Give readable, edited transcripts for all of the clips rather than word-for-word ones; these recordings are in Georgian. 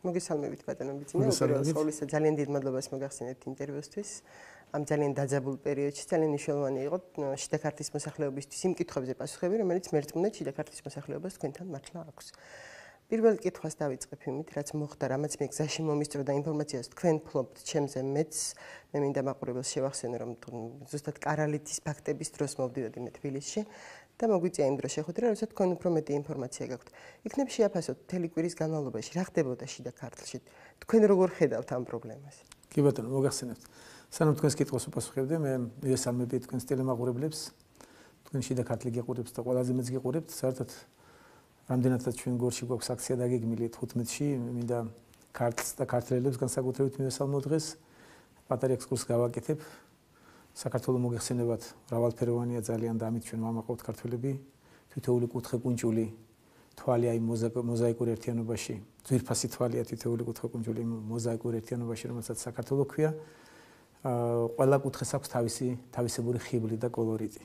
მოგესალმებით ბატონო ბიძინა, უპირველეს ყოვლისა ძალიან დიდ მადლობას მოგახსენებთ ინტერვიუსთვის. Ამ ძალიან დაძაბულ პერიოდში ძალიან მნიშვნელოვანი იყო შიდა ქართლის მოსახლეობისთვის იმ კითხვებზე პასუხები, რომელიც მერწმუნედ შიდა ქართლის მოსახლეობას თქვენთან მართლა აქვს. პირველ კითხვას დავიწყებ იმით, რაც მოხდა, რამაც მე გზაში მომისწრო და ინფორმაციას თქვენ ფლობთ ჩემზე მეც, მე მინდა მაყურებელს შევახსენო, რომ ზუსტად კარალეთის ფაქტების დროს მოვდიოდი მე თბილისში. და მოგვიწია იმ დროს შეხვედრა, როდესაც თქვენ უფრო მეტი ინფორმაცია გაქვთ. იქნებ შეაფასოთ მთელი კვირის განმავლობაში რა ხდებოდა შიდა ქართლში. თქვენ როგორ ხედავთ ამ პრობლემას? კი ბატონო, მოგახსენებთ. სანამ თქვენს კითხვას უპასუხებდი, მე მივესალმები თქვენს ტელემაყურებლებს. თქვენ შიდა ქართლი გიყურებთ და ყველაზე მეც გიყურებთ. საერთოდ რამდენადაც ჩვენ გორში გვაქვს აქცია დაგეგმილი 15-ში, მინდა ქართლს და ქართველებს განსაკუთრებით მივესალმო დღეს. პატარა ექსკურსს გავაკეთებ. საქართველოს მოგეხსენებათ მრავალფეროვანია ძალიან და ამით ჩვენ ვამაყობთ ქართველები თითოეული კუთხე-კუნჭული თვალი აი მოზაიკურ ერთიანობაში ძვირფასი თვალია თითოეული კუთხე-კუნჭული მოზაიკურ ერთიანობაში რომელსაც საქართველოს ქვია ყველა კუთხეს აქვს თავისებური ხიბლი და კოლორიტი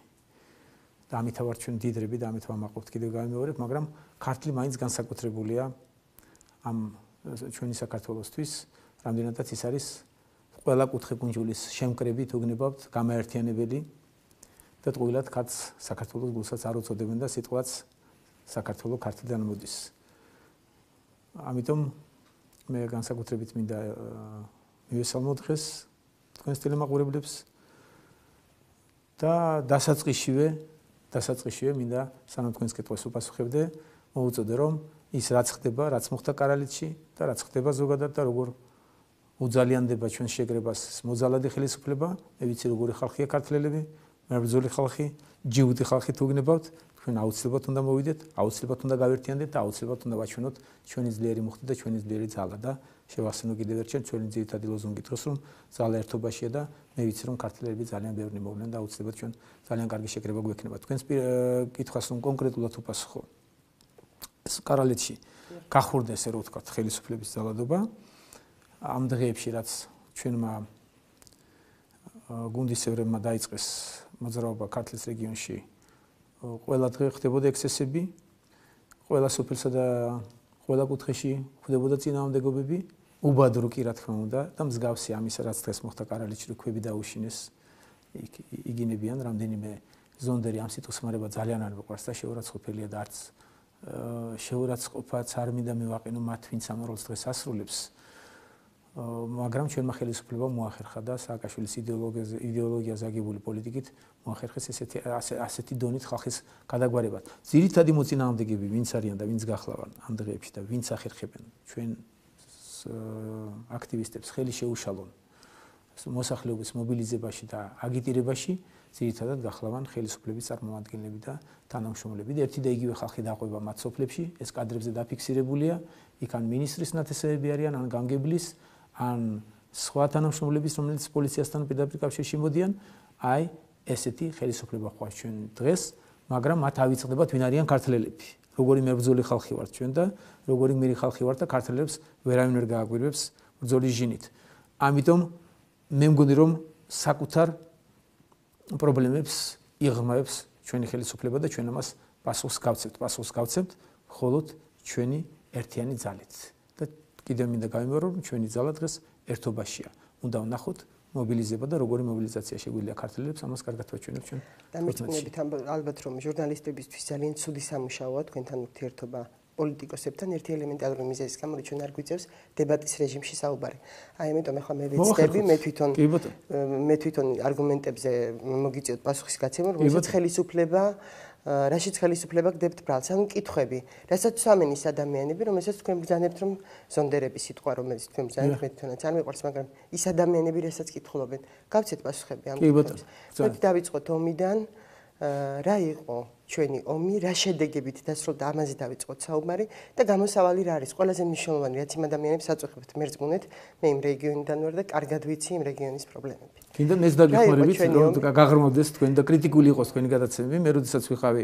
და ამით ვარ ჩვენ დიდრები და ამით ვამაყობთ კიდევ გამიმეორებ მაგრამ ქართლი მაინც განსაკუთრებულია ამ ჩვენი საქართველოსთვის რამდენადაც ის არის ყველა კუთხე-კუნჯულის შემკრებით უგნებავთ გამაერთიანებელი და ტყუილად ქართლს საქართველოს გულსაც არ უწოდებენ და სიტყვაც საქართველოს ქართლიდან მოდის. ამიტომ მე განსაკუთრებით მინდა მივესალმო დღეს თქვენს ტელემაყურებლებს და დასაწყისშივე მინდა სანამ თქვენს კითხვას უპასუხებდე მოუწოდე რომ ის რაც ხდება, რაც მოხდა კარალეთში და რაც ხდება ზოგადად და როგორ უძალიანდება ჩვენ შეგრებას მოძალადი ხელისუფლება, მე ვიცი როგორი ხალხია ქართველები, მებრძოლი ხალხი, ჯიუტი ხალხი თუ გნებავთ, თქვენ აუცილებლად უნდა მოვიდეთ, აუცილებლად უნდა გავერთიანდეთ და აუცილებლად უნდა ვაჩვენოთ ჩვენი ძლიერი მუხტი და ჩვენი ძლიერი ძალა და შევახსენო კიდევ ერთხელ ჩვენი ძირითადი ლოზუნგი დღეს რომ ძალა ერთობაშია და მე ვიცი რომ ქართველები ძალიან ბევრი მოვლენ და აუცილებლად ჩვენ ძალიან კარგი შეკრება გვექნება. თქვენს კითხვას რომ კონკრეტულად უპასუხო. კარალეთში გახურდა ესე რომ ვთქვათ ხელისუფლების ძალადობა ამ დღეებში რაც ჩვენმა გუნდისევრებმა დაიწყეს მოძრაობა ქართლის რეგიონში ყველა დღე ხდებოდა ექსესები ყველა სოფელსა და ყველა კუთხეში ხდებოდა წინააღმდეგობები უბადრო კი რა თქმა უნდა და მსგავსი ამისა რაც დღეს მოხდა კარალეთში რო ქვები დაუშინეს იგინებიან რამდენიმე ზონდერი ამ სიტყვისმარება ძალიან არ მიყვარს და შეურაცხყოფელია და არც შეურაცხყოფაც არ მინდა მივაყენო მათ ვინც ამ როლს დღეს ასრულებს მაგრამ ჩვენმა ხელისუფლებამ მოახერხა და სააკაშვილის იდეოლოგიაზე აგებული პოლიტიკით მოახერხეს ასეთი დონით ხალხის გადაგვარება. ძირითადი მოწინააღმდეგები ვინც არიან და ვინც გახლავენ ამ დღეებში და ვინც ახერხებენ ჩვენ აქტივისტებს ხელი შეუშალონ მოსახლეობის მობილიზებაში და აგიტირებაში ძირითადად გახლავენ ხელისუფლების წარმომადგენლები და თანამშრომლები და ერთი და იგივე ხალხი დაყვება მათ სოფლებში ეს კადრებზე დაფიქსირებულია იქ ან მინისტრის ნათესავები არიან ან გამგებლის ან სხვა თანამშრომლების რომელიც პოლიციასთან პირდაპირ კავშირში მოდიან აი ესეთი ხელისუფლება ხوار ჩვენ დღეს მაგრამ მათ ავიწყდებათ ვინ არიან ქართველები როგორი მებრძოლი ხალხი ვართ ჩვენ და როგორი გმირი ხალხი ვართ და ქართველებს ვერავინ ვერ გააგვირებს ბრძოლის ჟინით ამიტომ მე მგონი რომ საკუთარ პრობლემებს იღრმავებს ჩვენი ხელისუფლება და ჩვენ ამას პასუხს გავცემთ მხოლოდ ჩვენი ერთიანი ძალით და კიდევ მინდა გავიმეორო რომ ჩვენი ძალა დღეს ერთობაშია უნდა ვნახოთ მობილიზება და როგორი მობილიზაცია შეგვიძლია ქართველებს ამას კარგად ვაჩვენებთ ჩვენ დამეწმებით ალბათ რომ ჟურნალისტებისთვის ძალიან ცუდი სამუშაოა თქვენთან ურთიერთობა პოლიტიკოსებთან ერთი ელემენტარული მიზეზის გამო ჩვენ არ გვიწევს დებატის რეჟიმში საუბარი. აი ამიტომ ახლა მე ვეცდები მე თვითონ არგუმენტებზე მოგიწევთ პასუხის გაცემა რომელსაც ხელისუფლება რაშიც ხელისუფლება გდებთ ბრალს ანუ კითხვები რასაც ვსამენ ის ადამიანები რომელსაც თქვენ ბრძანებთ რომ ზონდერების სიტყვა რომელიც თქვენ ბრძანებთ მე თვითონაც არ მიყვარს მაგრამ ის ადამიანები რასაც კითხულობენ გავცეთ პასუხები ამ კითხვებს. მე დავიწყოთ ომიდან რა იყო ჩვენი ომი, რა შედეგებით დასრულდა ამაზე დავიწყოთ საუბარი და გამოსავალი რა არის ყველაზე მნიშვნელოვანი რაც იმ ადამიანებს აწუხებთ მერწმუნეთ მე იმ რეგიონიდან ვარ და კარგად ვიცი იმ რეგიონის პრობლემები. კიდევ ეს დაგეხმარებით რომ გაღრმავდეს თქვენ და კრიტიკული იყოს თქვენი გადაცემები მე როდესაც ვიყავი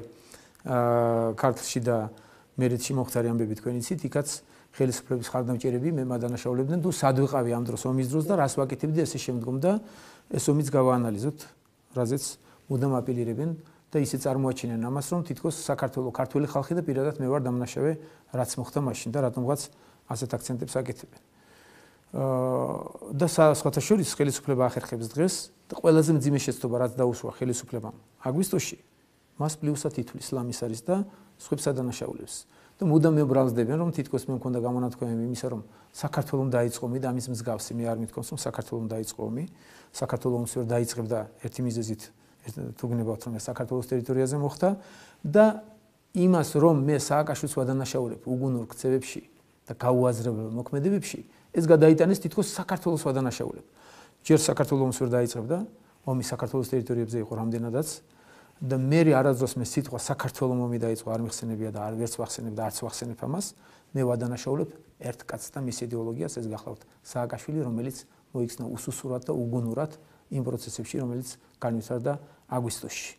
ქართლში და მერეთში მოხდარი ამბები თქვენ იცით იქაც ხელისუფლების ხარდამჭერები მე მადანაშაულებდნენ თუ სად ვიყავი ამ დროს ომის დროს და რას ვაკეთებდი ესე შემდგომ და ეს ომიც გავაანალიზოთ რაზეც მუდამ აპილირებენ და ისე წარმოაჩენენ ამას რომ თითქოს საქართველოს ქართველი ხალხი და პირადად მე ვარ დამნაშავე რაც მოხდა მაშინ და რატომღაც ასეთ აქცენტებს აკეთებენ. და სხვათა შორის ხელისუფლება ახერხებს დღეს და ყველაზე მძიმე შეცდომა რაც დაუშვა ხელისუფლებამ აგვისტოში მას პლუსად ითვლის ისლამის არის და სხვებსა დანაშაულებს და მუდამ მებრალდებიან რომ თითქოს მე მქონდა გამონათქვამი იმისა რომ საქართველოს დაიწყო ომი და ამის მსგავსი მე არ მithქვამს რომ საქართველოს დაიწყო ომი საქართველოს ომს ვერ დაიწყებდა ერთი მიზეზით თუ გნებავთ რომ საქართველოს ტერიტორიაზე მოხდა და იმას რომ მე სააკაშვილს ვადანაშაულებ უგუნურ ქცევებში და გაუაზრებელ მოქმედებებში ეს გადაიტანეს თითქოს საქართველოს ვადანაშაულებ. ჯერ საქართველოს ომს ვერ დაიწყებდა, ომი საქართველოს ტერიტორიებზე იყო რამდენადაც და მე არასდროს მე სიტყვა საქართველოს ომი დაიწყო არ მიხსენებია და არ ვერც ვახსენებ და არც ვახსენებ ამას, მე ვადანაშაულებ ერთ კაცს და მის იდეოლოგიას ეს გახლავთ სააკაშვილი, რომელიც მოიქცნა უსუსურად და უგუნურად იმ პროცესებში, რომელიც განვითარდა აგვისტოში.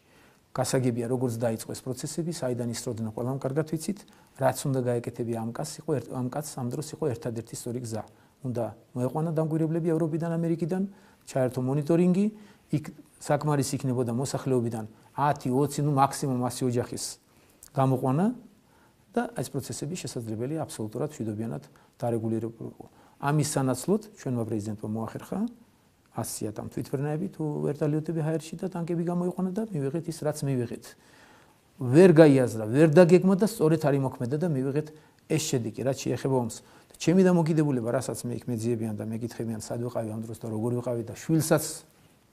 გასაგებია როგორც დაიწყო ეს პროცესები, საიდან ისროდნენ ყველამ კარგად ვიცით, რაც უნდა გაეკეთებია ამ კაცს ამ დროს იყო ერთადერთი სწორი გზა. უნდა მოეყვანა დამკვირვებლები ევროპიდან, ამერიკიდან, ჩაერთო მონიტორინგი, იქ საკმარისი იქნებოდა მოსახლეობიდან 10-20, ნუ მაქსიმუმ 100 ოჯახის გამოყვანა და ეს პროცესები შესაძლებელია აბსოლუტურად მშვიდობიანად დარეგულირებულიყო. ამის სანაცვლოდ ჩვენმა პრეზიდენტმა მოახერხა 100-ად ამ თვითმფრინავები თუ ვერტალიოტები ჰაერში და ტანკები გამოიყვანა და მივიღეთ ის რაც მივიღეთ. ვერ გაიაზრა, ვერ დაგეგმა და სწორედ არ იმოქმედა და მივიღეთ ეს შედეგი, რაც შეეხება ომს. ჩემი დამოკიდებულება, რასაც მე იქ მეძიებიან და მეკითხებიან, სად ვიყავი ამ დროს და როგორ ვიყავი და შვილსაც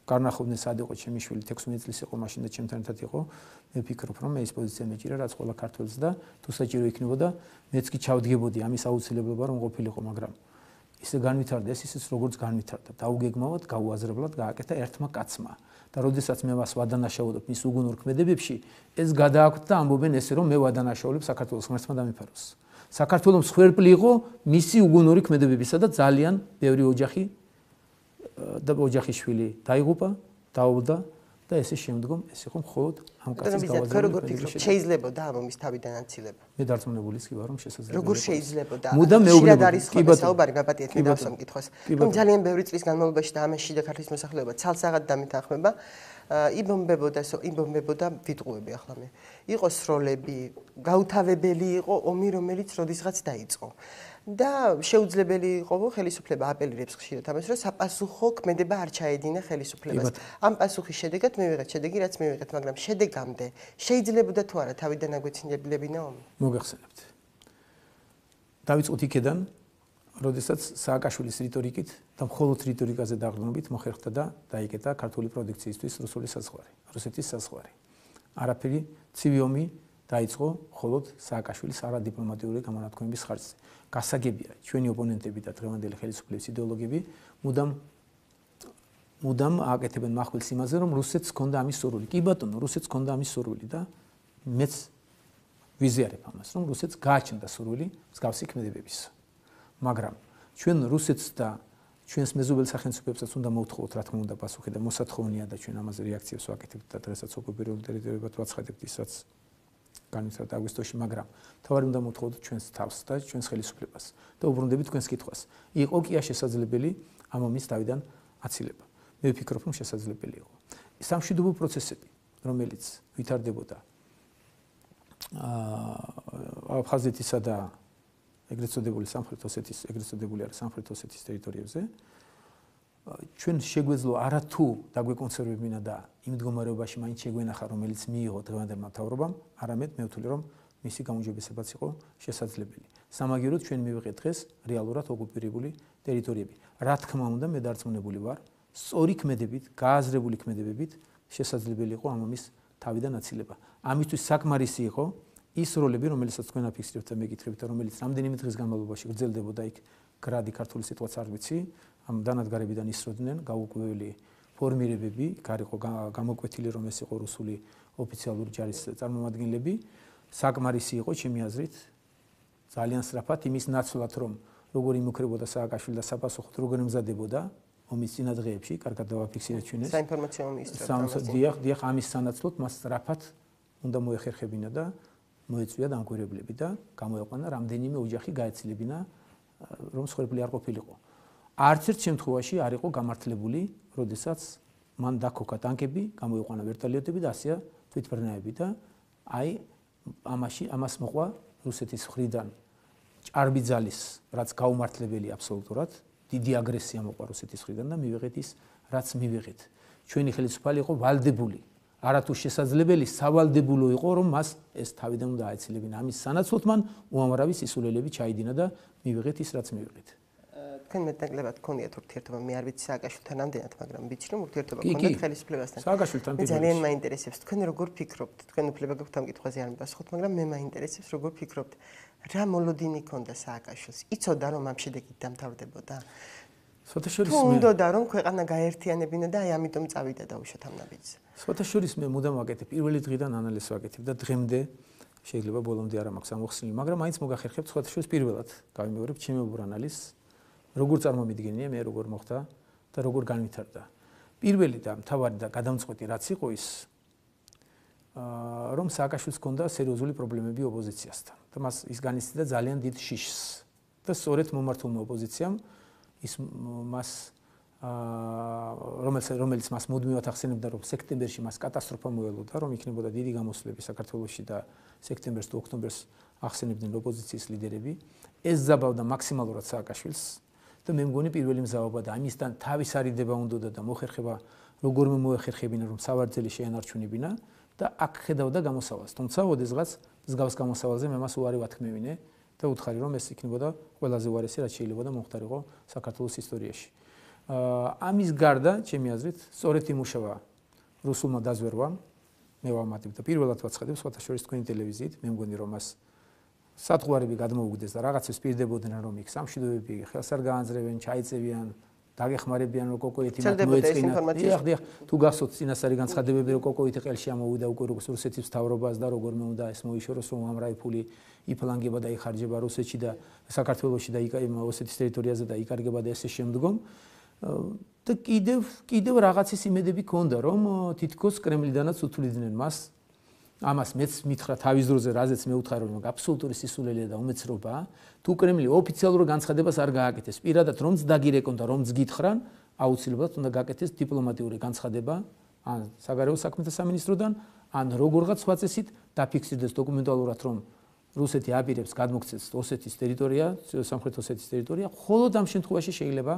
გარნახობდნენ სად იყო ჩემი შვილი 16 წლის იყო მაშინ და ჩემთან ერთად იყო. მე ვფიქრობ, რომ მე ეს პოზიცია მეჭირა, რაც ყველა ქართველს და თუ საჭირო იქნებოდა, მეც კი ჩავდგებოდი ამის აუცილებლობა რომ ყოფილიყო, მაგრამ ისე განვითარდა ეს ისიც როგორც განვითარდა. დაუგეგმავად, გაუაზრებლად გააკეთა ერთმა კაცმა. და როდესაც მე მას ვადანაშაულობ მის უგუნურ ქმედებებში, ეს გადააქვთ და ამბობენ ესე რომ მე ვადანაშაულებ საქართველოს ღმერთმა დამიფაროს. საქართველოს მსხვერპლი იყო მისი უგუნური ქმედებებისა და ძალიან ბევრი ოჯახი და ოჯახის შვილი დაიღუპა, დაობლდა და ესე შემდგომ ეს იყო მხოლოდ ამ კაცის გავაზრებული. შეიძლებოდა ამ ომის თავიდან აცილება. მე დარწმუნებულიც კი ვარ რომ შესაძლებელია. როგორ შეიძლებოდა? მუდამ მეუბნებოდი. არის ხოლმე საუბარი გაბატიეთ მე დავსვამ კითხვას. რომ ძალიან ბევრი წლის განმავლობაში და ამაში და ქართლის მოსახლეობა ცალსაღად დამეთანხმება. იბომბებოდა ვიტყუები ახლა მე. იყო სროლები, გაუთავებელი იყო ომი, რომელიც როდისღაც დაიწყო. და შეუძლებელი იყო ხელისუფლება აპელირებს ხშირად ამას, რომ საპასუხო ქმედება არ ჩაედინა ხელისუფლებას. ამ პასუხის შედეგად მივიღეთ შედეგი, რაც მივიღეთ, მაგრამ შედეგამდე შეიძლებოდა თუ არა თავიდან აგვეცინებლებინა ომი? მოგეხსენებთ. დავიწყოთ იქედან, როდესაც სააკაშვილის რიტორიკით და მხოლოდ რიტორიკაზე დაყრდნობით მოხერხდა და დაიკეტა ქართული პროდუქციისთვის რუსული საზღვარი, რუსეთის საზღვარი. არაფერი ცივი ომი დაიწყო მხოლოდ სააკაშვილის არადიპლომატიური გამონათქვამების ხარჯზე. გასაგებია, ჩვენი ოპონენტები და დღევანდელი ხელისუფლების იდეოლოგები მუდამ ააკეთებენ მახვილს იმაზე, რომ რუსეთს ჰქონდა ამის სურვილი. კი ბატონო, რუსეთს ჰქონდა ამის სურვილი და მეც ვიზიარებ ამას, რომ რუსეთს გააჩნდა სურვილი მსგავსი ქმედებების. მაგრამ ჩვენ რუსეთს და ჩვენს მეზობელ სახელმწიფოებსაც უნდა მოვთხოვოთ, რა თქმა უნდა, პასუხი და მოსათხოვნია და ჩვენ ამაზე რეაქციებს ვაკეთებთ და დღესაც ოკუპირებულ ტერიტორიებად ვაცხადებთ ისაც განვითარდა აგვისტოში, მაგრამ თავარი უნდა მოვთხოვოთ ჩვენს თავს და ჩვენს ხელისუფლებას და უბრუნდებით თქვენს კითხვას. იყო კი შესაძლებელი ამ ომის თავიდან აცილება. მე ვფიქრობ, რომ შესაძლებელი იყო. სამშვიდობო პროცესები, რომელიც ვითარდებოდა აფხაზეთისა და ეგრეთ წოდებული სამხრეთ ოსეთის, ეგრეთ წოდებული არის სამხრეთ ოსეთის ტერიტორიებზე, ჩვენ შეგვეძლო არა თუ დაგვეკონსერვებინა და იმ მდგომარეობაში მაინც შეგვენახა, რომელიც მიიღო დღევანდელმა მთავრობამ, არამედ მე ვთვლი, რომ მისი გაუმჯობესებაც იყო შესაძლებელი. სამაგიეროდ ჩვენ მივიღეთ დღეს რეალურად ოკუპირებული ტერიტორიები. რა თქმა უნდა, მე დარწმუნებული ვარ, სწორი ქმედებით, გააზრებული ქმედებებით შესაძლებელი იყო ამ ომის თავიდან აცილება. ამისთვის საკმარისი იყო ის როლები, რომელსაც თქვენ აფიქსირებთ და მეკითხებით, რომელიც რამდენიმე დღის განმავლობაში გრძელდებოდა იქ გრადი ქართული სიტყვაც არ ვიცი, ამ დანადგარებიდან ისროდნენ გაუკვირველი ფორმირებები, გარიყო გამოკვეთილი რომ ეს იყო რუსული ოფიციალური ჯარის წარმომადგენლები, საკმარისი იყო ჩემი აზრით ძალიან სწრაფად იმის ნაცვლად, რომ როგორ იმუქრებოდა სააკაშვილი და საპასუხოდ როგორ ემზადებოდა ომის წინადღეებში, კარგად დავაფიქსირეთ ჩვენ ეს. საინფორმაციო მინისტრად. დიახ, ამის სანაცვლოდ მას სწრაფად უნდა მოეხერხებინა და მოეწვია დამკვირვებლები და გამოეყვანა რამდენიმე ოჯახი გაეცილებინა რომ მსხვერპლი არ ყოფილიყო. არც ერთ შემთხვევაში არ იყო გამართლებული, როდესაც მან დაქოქა ტანკები, გამოიყვანა ვერტალიოტები და ასეა თვითმფრინავები და აი ამას მოყვა რუსეთის მხრიდან ჭარბი ძალის, რაც გაუმართლებელი აბსოლუტურად, დიდი აგრესია მოყვა რუსეთის მხრიდან და მივიღეთ ის, რაც მივიღეთ. ჩვენი ხელისუფალი იყო ვალდებული. არათუ შესაძლებელი სავალდებულო იყო, რომ მას ეს თავიდან უნდა აეცილებინა. ამის სანაცვლოდ მან უამრავი სისულელები ჩაიდინა და მივიღეთ ის, რაც მივიღეთ. თქვენ მეტნაკლებად გქონიათ ურთიერთობა, მე არ ვიცი სააკაშვილთან ამდენად, მაგრამ ვიცი რომ ურთიერთობა გქონდათ ხელისუფლებასთან. სააკაშვილთან მე ძალიან მაინტერესებს, თქვენ როგორ ფიქრობთ? თქვენ უფლება გაქვთ ამ კითხვაზე არ მიპასუხოთ, მაგრამ მე მაინტერესებს როგორ ფიქრობთ, რა მოლოდინი ჰქონდა სააკაშვილს? იცოდა რომ ამ შედეგით დამთავრდებოდა? სოთაშორის მე უნდოდა რომ ქვეყანა გაერთიანებინა და აი ამიტომ წავიდა დაუშვათ ამ ნაბიჯს. სოთაშორის მე მუდამ ვაკეთებ, პირველი დღიდან ანალიზს ვაკეთებ და დღემდე შეიძლება ბოლომდე არ მაქვს ამოხსნილი, მაგრამ მაინც მოგახერხებთ სოთაშორის პირველად გავიმეორებ ჩემებურ ანალიზს. როგორ წარმომიდგენია მე როგორ მოხდა და როგორ განვითარდა. პირველი და მთავარი და გადამწყვეტი რაც იყო ის რომ სააკაშვილს ჰქონდა სერიოზული პრობლემები ოპოზიციასთან და მას ის განიცდიდა ძალიან დიდ შიშს და სწორედ მომართულმა ოპოზიციამ ის მას რომელიც მას მუდმივად ახსენებდა რომ სექტემბერში მას კატასტროფა მოელოდა რომ იქნებოდა დიდი გამოსვლები საქართველოში და სექტემბერს თუ ოქტომბერს ახსენებდნენ ოპოზიციის ლიდერები ეს ზაბავდა მაქსიმალურად სააკაშვილს და მე მგონი პირველი მზაობა და ამისთან თავის არიდება უნდოდა და მოხერხება როგორმე მოეხერხებინა რომ სავარძელი შეენარჩუნებინა და აქ ხედავდა გამოსავალს თუმცა ოდესღაც მსგავს გამოსავალზე მე მას უარი ვათქმევინე და უთხარი რომ ეს იქნებოდა ყველაზე უარესი რაც შეიძლება და მომხდარიყო საქართველოს ისტორიაში ამის გარდა ჩემი აზრით სწორედ იმუშავა რუსულმა დაზვერვამ მე ვამატებ და პირველად ვაცხადებ სხვათა შორის თქვენი ტელევიზიით მე მგონი რომ მას სათღვარები გადმოუგდეს და რაღაცებს პირდებოდნენ რომ იქ სამშვიდობები ხელს არ გაანძრევენ, ჩაიწევიან, დაგეხმარებიან რომ კოკოეთი მათ მოეწყინა. დიახ, თუ გახსოვთ წინასწარი განცხადებები რომ კოკოეთი ყელში ამოვიდა უკვე რუსეთის მთავრობას და როგორმე უნდა ეს მოიშოროს რომ ამრავი ფული იფლანგება და იხარჯება რუსეთში და საქართველოში და ოსეთის ტერიტორიაზე და იკარგება და ესე შემდგომ და კიდევ რაღაცის იმედები ქონდა რომ თითქოს კრემლიდანაც უთვლიდნენ მას ამას მეც მითხრა თავის დროზე რაზეც მე ვუთხარი რომ აბსოლუტური სისულელეა და უმეცრობაა თუ კრემლი ოფიციალურ განცხადებას არ გააკეთეს პირადად რომც დაგირეკონ და რომც გითხრან აუცილებლად უნდა გააკეთეს დიპლომატიური განცხადება ან საგარეო საქმეთა სამინისტროდან ან როგორღაც სხვა წესით დაფიქსირდეს დოკუმენტალურად რომ რუსეთი აპირებს გადმოქცეს ოსეთის ტერიტორია სამხრეთ ოსეთის ტერიტორია მხოლოდ ამ შემთხვევაში შეიძლება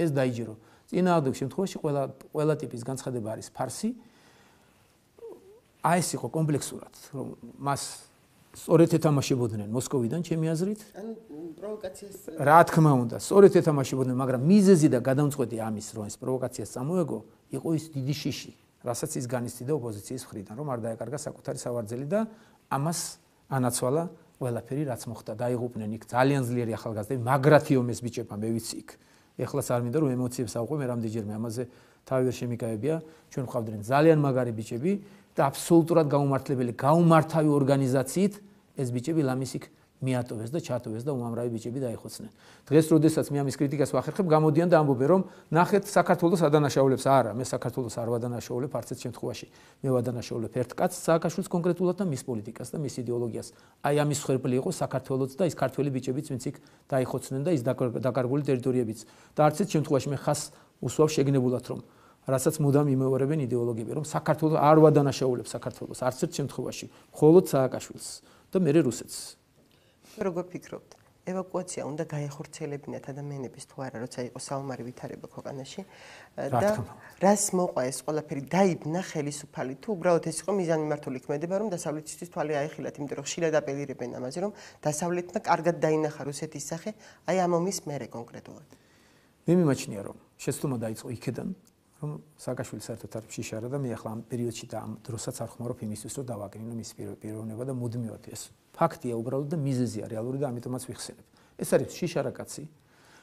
ეს დაიჯერო წინააღმდეგ შემთხვევაში ყველა ტიპის განცხადება არის ფარსი აი ეს იყო კომპლექსურად რომ მას სწორედ ეთამაშებოდნენ მოსკოვიდან ჩემი აზრით ან პროვოკაციას რა თქმა უნდა სწორედ ეთამაშებოდნენ მაგრამ მიზეზი და გადამწყვეტი ამის რომ ეს პროვოკაციას წამოეგო იყო ის დიდი შიში რასაც ის განიცდიდა ოპოზიციის მხრიდან რომ არ დაეკარგა საკუთარი სავარძელი და ამას ანაცვალა ყველაფერი რაც მოხდა დაიღუპნენ იქ ძალიან ძლიერი ახალგაზრდები მაგრათი ომეს ბიჭებმა მე ვიცი იქ ეხლაც არ მინდა რომ ემოციებს ავყვე მე რამდენჯერმე ამაზე თავი ვერ შემიკავებია ჩვენ ვყავდნენ ძალიან მაგარი ბიჭები და აბსოლუტურად გაუმართავი ორგანიზაციით ეს ბიჭები ლამისიქ მიატოვეს და ჩატოვეს და უამრავი ბიჭები დაიხოცნენ. დღეს როდესაც მე ამის კრიტიკას ვახერხებ, გამოდიან და ამბობენ რომ ნახეთ საქართველოს ადანაშაულებს არა, მე საქართველოს არ ვადანაშაულებ არც ერთ შემთხვევაში. მე ვადანაშაულებ ერთ კაცს სააკაშვილს კონკრეტულად და მის პოლიტიკას და მის იდეოლოგიას. აი ამის ხერხი იყო საქართველოს და ის ქართველი ბიჭებიც ვინც იქ დაიხოცნენ და ის დაკარგული ტერიტორიებიც. და არც ერთ შემთხვევაში მე ხას უსვავ შეგნებულად რომ რასაც მუდამ იმეორებენ იდეოლოგები რომ საქართველოს არ ვადანაშაულებს საქართველოს არც ერთ შემთხვევაში მხოლოდ სააკაშვილს და მე რუსეთს როგორ ფიქრობთ ევაკუაცია უნდა გაეხორციელებინათ ადამიანების თუ არა როცა იყო საომარი ვითარება ქვეყანაში და რას მოყვა ეს ყველაფერი დაიბნა ხელისუფალი თუ უბრალოდ ეს იყო მიზანმიმართული ქმედება რომ დასავლეთისთვის თვალი აეხილათ იმიტომ რომ ხშირად აპელირებენ ამაზე რომ დასავლეთმა კარგად დაინახა რუსეთის სახე აი ამ ომის მერე კონკრეტულად მე მიმაჩნია რომ შეცდომა დაიწყო იქედან რომ სააკაშვილი საერთოდ არ შიშარა და მე ახლა ამ პერიოდში და ამ დროსაც არ ხმარობ იმისთვის რომ დავაკრინო მის პიროვნება და მუდმივად ეს ფაქტია უბრალოდ და მიზეზია რეალური და ამიტომაც ვიხსენებ ეს არის შიშარა კაცი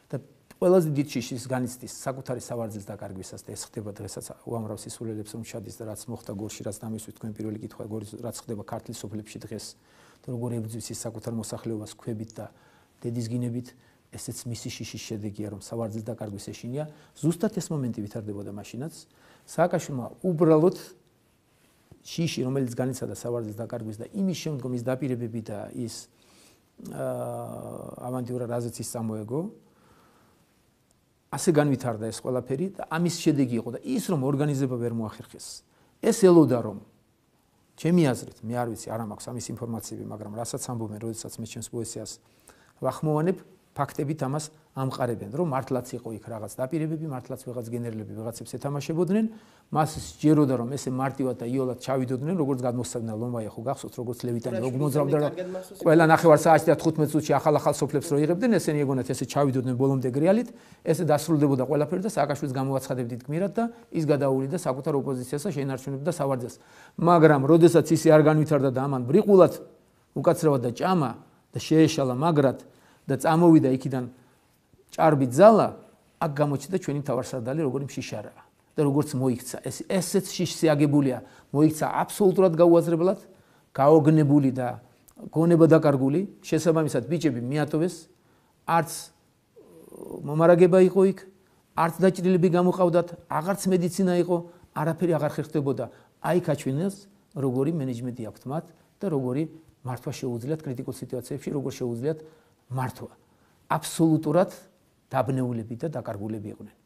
და ყველაზე დიდი შიშის განიცდის საკუთარი სავარძლის დაკარგვისას და ეს ხდება დღესაც უამრავ სისულელებს რომ ჩადის და რაც მოხდა გორში რაც დამისვით თქვენ პირველი კითხვა რაც ხდება ქართლის სოფლებში დღეს და როგორ ებრძვის ის საკუთარ მოსახლეობას ქვებით და დედის გინებით ესეც მისი შიშის შედეგია რომ სავარძლის დაკარგვის ეშინია ზუსტად ეს მომენტი ვითარდებოდა მაშინაც სააკაშვილმა უბრალოდ შიში რომელიც განიცადა სავარძლის დაკარგვის და იმის შემდგომ ის დაპირებები და ის ავანტიურა რაზეც ის წამოეგო ასე განვითარდა ეს ყველაფერი და ამის შედეგი იყო და ის რომ ორგანიზება ვერ მოახერხეს ეს ელოდა რომ ჩემი აზრით მე არ ვიცი არ მაქვს ამის ინფორმაციები მაგრამ რასაც ამბობენ როდესაც მე ჩემს პოეზიას ვახმოვანებ ფაქტებით ამას ამყარებენ, რომ მართლაც იყო იქ რაღაც დაპირებები, მართლაც ვიღაც გენერლები ვიღაცებს ეთამაშებოდნენ, მას სჯეროდა რომ ესე მარტივად და იოლად ჩავიდოდნენ, როგორც გადმოსცემდა ლომაია ხო გახსოვთ, როგორც ლევიტანი როგორ მოძრავდა რომ ყველა ნახევარ საათში და 15 წუთში ახალ სოფლებს რო იღებდნენ, ესენი ეგონათ ესე ჩავიდოდნენ ბოლომდე გრიალით, ესე დასრულდებოდა ყველაფერი და სააკაშვილის გამოაცხადებდით გმირად და ის გადაუვლიდა საკუთარ ოპოზიციას და შეინარჩუნებდა სავარძელს. მაგრამ როდესაც ისი არ განვითარდა და ამან ბრიყულად უკაცრავად და ჭამა და შეეშალა მაგრად და წამოვიდა იქიდან ჭარბი ძალა, აქ გამოჩნდა ჩვენი მთავარსარდალი როგორი მშიშარაა და როგორც მოიქცა. ესეც შიშზე აგებულია, მოიქცა აბსოლუტურად გაუაზრებლად, გაოგნებული და გონება დაკარგული, შესაბამისად ბიჭები მიატოვეს, არც მომარაგება იყო იქ, არც დაჭრილები გამოყავდათ, აღარც მედიცინა იყო, არაფერი აღარ ხერხდებოდა. აი გაჩვენეს როგორი მენეჯმენტი აქვთ მათ და როგორი მართვა შეუძლიათ კრიტიკულ სიტუაციებში, როგორ შეუძლიათ მართვა. აბსოლუტურად დაბნეულები და დაკარგულები იყვნენ.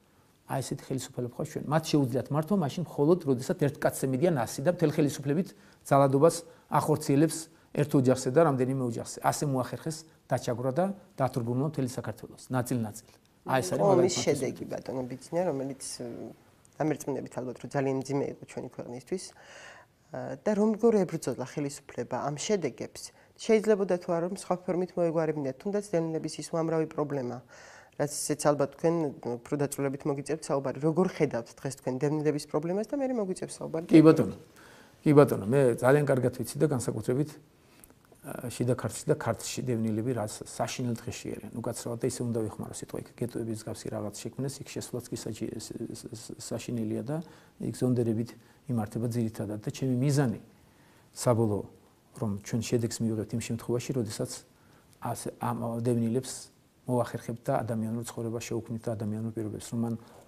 აი ესეთი ხელისუფლება ხო ჩვენ. მათ შეუძლიათ მართვა მაშინ მხოლოდ როდესაც ერთ კაცზე მიდიან ასი და მთელ ხელისუფლებით ძალადობას ახორციელებს ერთ ოჯახზე და რამდენიმე ოჯახზე. ასე მოახერხეს დაჩაგვრა და დათურგუნვა მთელი საქართველოს. ნაწილ-ნაწილ. აი ეს არის მაგალითად შედეგი ბატონო ბიძინა, რომელიც დამერწმუნებით ალბათ რომ ძალიან მძიმე იყო ჩვენი ქვეყნისთვის და როგორ ებრძოლა ხელისუფლება ამ შედეგებს. შეიძლებოდა თუ არა რომ სხვა ფორმით მოეგვარებინათ, თუნდაც დევნილების ის უამრავი პრობლემა, რაც ისეც ალბათ თქვენ უფრო დაწვრილებით მოგიწევთ საუბარი. როგორ ხედავთ დღეს თქვენ დევნილების პრობლემას და მე მოგიწევთ საუბარი? კი ბატონო. კი ბატონო, მე ძალიან კარგად ვიცი და განსაკუთრებით შიდა ქართლში და ქართლში დევნილები რაც საშინელ დღეში არიან. უკაცრავად და ისე უნდა ვიხმარო სიტყვა იქ გეტოების მსგავსი რაღაც შექმნეს, იქ შესვლაც კი საშინელია და იქ ზონდერებით იმართება ძირითადად და ჩემი მიზანი საბოლოო რომ ჩვენ შედეგს მივიღებთ იმ შემთხვევაში, როდესაც ამ დევნილებს მოახერხებთ და ადამიანურ ცხოვრებას შეუქმნით და ადამიანურ პირობებს, რომ